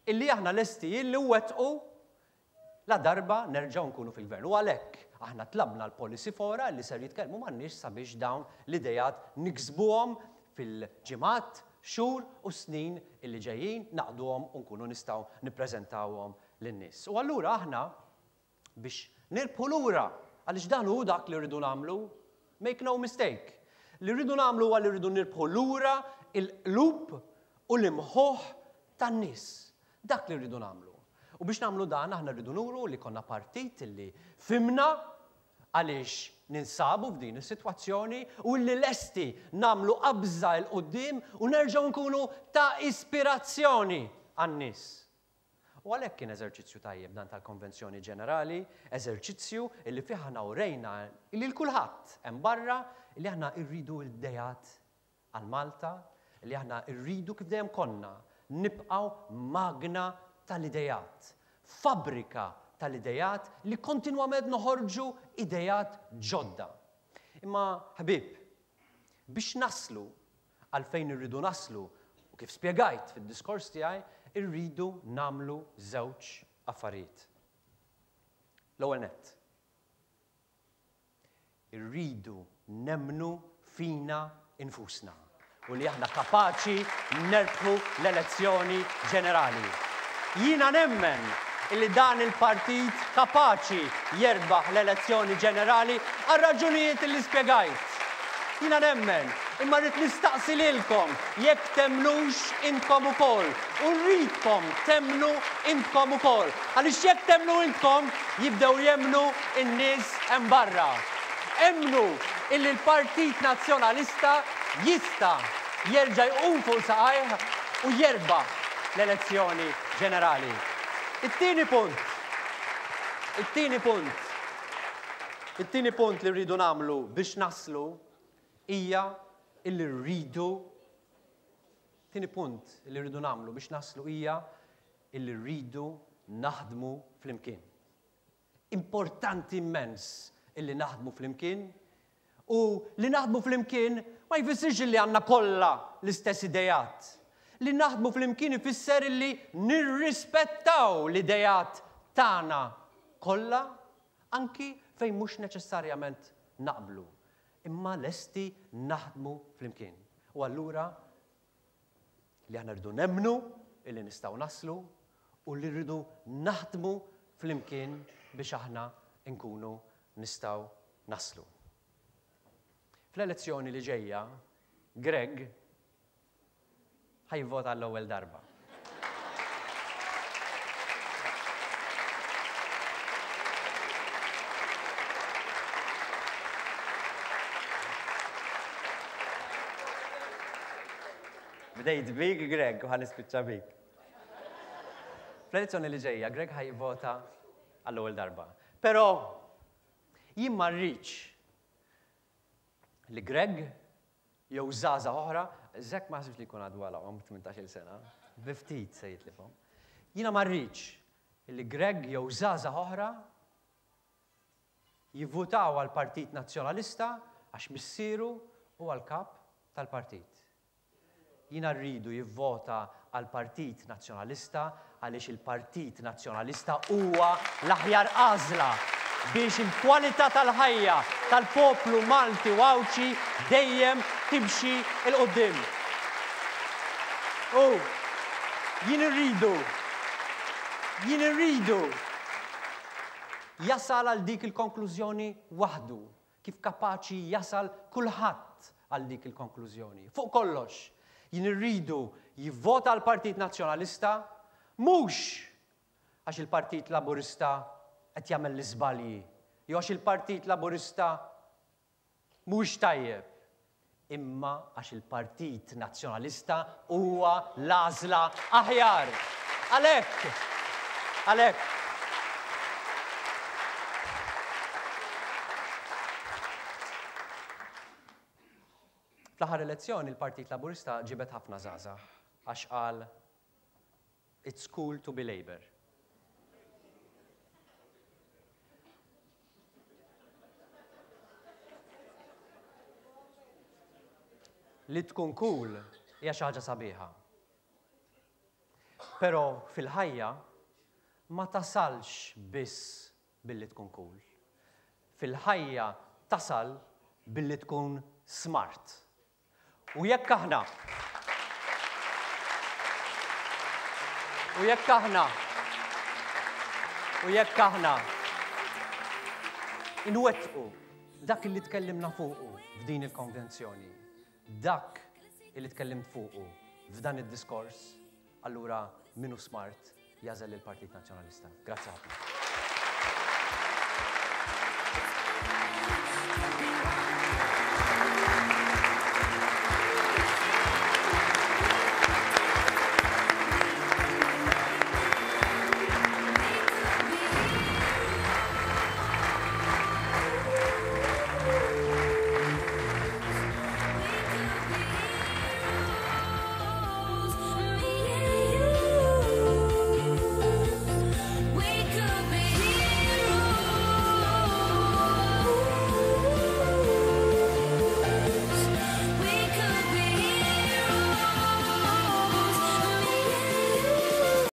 illi aħna lesti illi wettqu la darba nerġgħu nkunu fil-gvern. U għalhekk aħna tlabna l-policy fora li ser jitkellmu man-nies sabiex dawn l-idejat niksbuhom fil-ġimgħat, xhur u snin illi ġejjin, naqduhom u nkunu nistgħu nippreżentawhom lin-nies. U allura aħna biex nirbħu lura, għaliex dan hu dak li rridu nagħmlu, make no mistake. Li rridu nagħmlu huwa li rridu nirbħu lura il-qlub u l-imħuħ tan-nies. Dak li rridu nagħmlu. U biex nagħmlu dan aħna rridu nuru li konna partit li fhimna għaliex ninsabu f'din is-sitwazzjoni u li lesti nagħmlu qabża 'l quddiem u nerġgħu nkunu ta' ispirazzjoni għan-nies. U għalhekk kien eżerċizzju tajjeb dan tal-Konvenzjoni Ġenerali, eżerċizzju illi fih aħna urejna illi lil kulħadd hemm barra li aħna rridu l-ideat għal Malta, li aħna rridu kif dejjem konna nibqgħu magna tal-idejat, fabbrika tal-idejat li kontinwament noħorġu idejat ġodda. Imma ħbieb, biex naslu għal fejn irridu naslu, u kif spjegajt fid-diskors tiegħi, irridu nagħmlu żewġ affarijiet. L-ewwel nett, irridu nemmnu fina infusna u li aħna kapaċi nerbħu l-elezzjoni ġenerali. Jiena nemmen illi dan il-partit kapaċi jerbaħ l-elezzjoni ġenerali għal raġunijiet li spjegajt. Jiena nemmen, imma rrid nistaqsi lilkom jekk temmnux intkom ukoll u rridkom temmnu intkom ukoll. Għaliex jekk temmnu intkom jibdew jemmnu n-nies hemm barra. Emmnu illi l-Partit Nazzjonalista jista' jerġa' jqum fuq saqajh u jerbaħ l-elezzjoni ġenerali. It-tieni punt, it-tieni punt, it-tieni punt li rridu nagħmlu biex naslu hija illi rridu, tieni punt li rridu nagħmlu biex naslu hija illi rridu naħdmu flimkien. Importanti immens illi naħdmu flimkien, u li naħdmu flimkien ma jfissirx illi għandna kollha l-istess idejat. Li naħdmu flimkien ifisser illi nirrispettaw l-idejat tagħna kollha, anki fejn mhux neċessarjament naqblu, imma lesti naħdmu flimkien. U allura li aħna rridu nemmnu illi nistgħu naslu u li rridu naħdmu flimkien biex aħna nkunu nistgħu naslu. Fl-elezzjoni li ġejja, Greg ħajvota għall-ewwel darba. Bdejt bik, Greg, u ħanispiċċa bik. Fl-elezzjoni li ġejja, Greg ħajvota għall-ewwel darba. Però jien ma rridx li Greg jew żgħażagħ oħra, Zek ma ħsibx li jkun għadu għalahom tmintax-il sena, bi ftit se jitlifhom. Jiena ma rridx li Greg jew żgħażagħ oħra jivvutaw għall-Partit Nazzjonalista għax missieru u għall-kap tal-partit. Jiena rridu jivvota għall-Partit Nazzjonalista għaliex il-Partit Nazzjonalista huwa l-aħjar għażla biex il-kwalità tal-ħajja tal-poplu Malti u Għawdxi dejjem timxi 'l quddiem. U jien irridu, jien irridu jasal għal dik il-konklużjoni waħdu, kif kapaċi jasal kulħadd għal dik il-konklużjoni. Fuq kollox, jien irridu jivvota għall Partit Nazzjonalista mhux għax il-Partit Laburista qed jagħmel l-iżbalji, jew għax il-Partit Laburista mhux tajjeb, imma għax il-Partit Nazzjonalista huwa l-għażla aħjar. Għalhekk, għalhekk. Fl-aħħar elezzjoni il-Partit Laburista ġibed ħafna żgħażagħ għax qal it's cool to be Labour. Li tkun cool hija xi ħaġa sabiħa. Però fil-ħajja ma tasalx biss billi tkun cool. Fil-ħajja tasal billi tkun smart. U jekk aħna U jekk aħna U jekk aħna inwettqu dak li tkellimna fuqu f'din il-konvenzjoni, dak li tkellimt fuqu f'dan id-diskors, allura min hu smart jażel il-Partit Nazzjonalista. Grazzi ħafna.